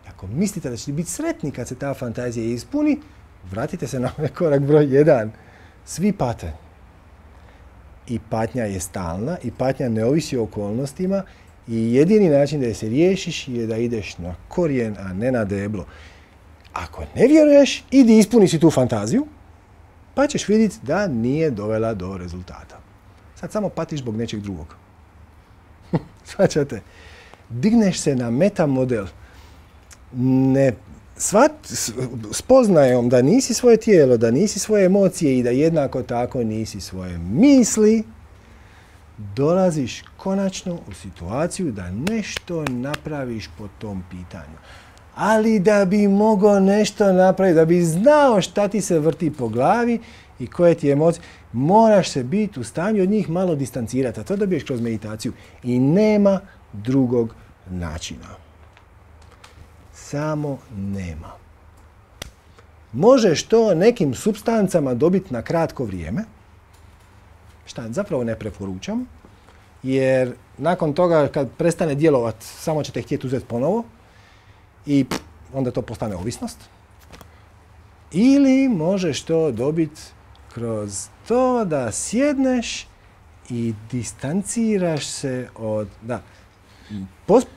Ako mislite da ćete biti sretni kad se ta fantazija ispuni, vratite se na korak broj 1. Svi pate. I patnja je stalna i patnja ne ovisi o okolnostima i jedini način da je se riješiš je da ideš na korijen, a ne na deblo. Ako ne vjeruješ, idi ispuni si tu fantaziju, pa ćeš vidjeti da nije dovela do rezultata. Sad samo patiš zbog nečeg drugog. Svaćate? Digneš se na meta model. Spoznajom da nisi svoje tijelo, da nisi svoje emocije i da jednako tako nisi svoje misli, dolaziš konačno u situaciju da nešto napraviš po tom pitanju. Ali da bi mogao nešto napraviti, da bi znao šta ti se vrti po glavi i koje ti emocije, moraš se biti u stanju od njih malo distancirati. A to dobiješ kroz meditaciju. I nema drugog načina. Samo nema. Možeš to nekim supstancama dobiti na kratko vrijeme. Šta zapravo ne preporučam. Jer nakon toga kad prestane djelovati, samo ćete htjeti uzeti ponovo. I onda to postane ovisnost. Ili možeš to dobiti kroz to da sjedneš i distanciraš se od...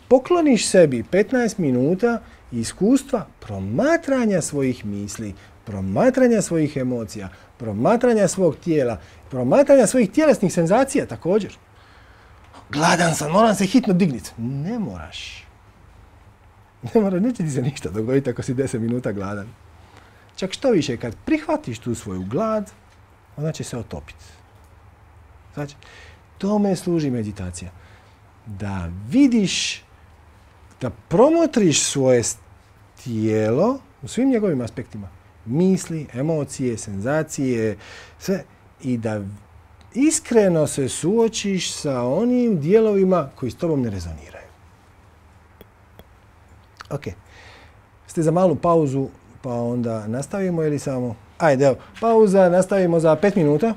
Pokloniš sebi 15 minuta iskustva promatranja svojih misli, promatranja svojih emocija, promatranja svog tijela, promatranja svojih tjelesnih senzacija također. Gladan sam, moram se hitno digniti. Ne moraš. Neće ti se ništa dogoditi ako si 10 minuta gladan. Čak što više, kad prihvatiš tu svoju glad, ona će se otopiti. Znači, tome služi meditacija. Da vidiš, da promotriš svoje tijelo u svim njegovim aspektima. Misli, emocije, senzacije, sve. I da iskreno se suočiš sa onim dijelovima koji s tobom ne rezoniraju. Ok. Ste za malu pauzu, pa onda nastavimo ili samo... Ajde, evo, pauza, nastavimo za 5 minuta.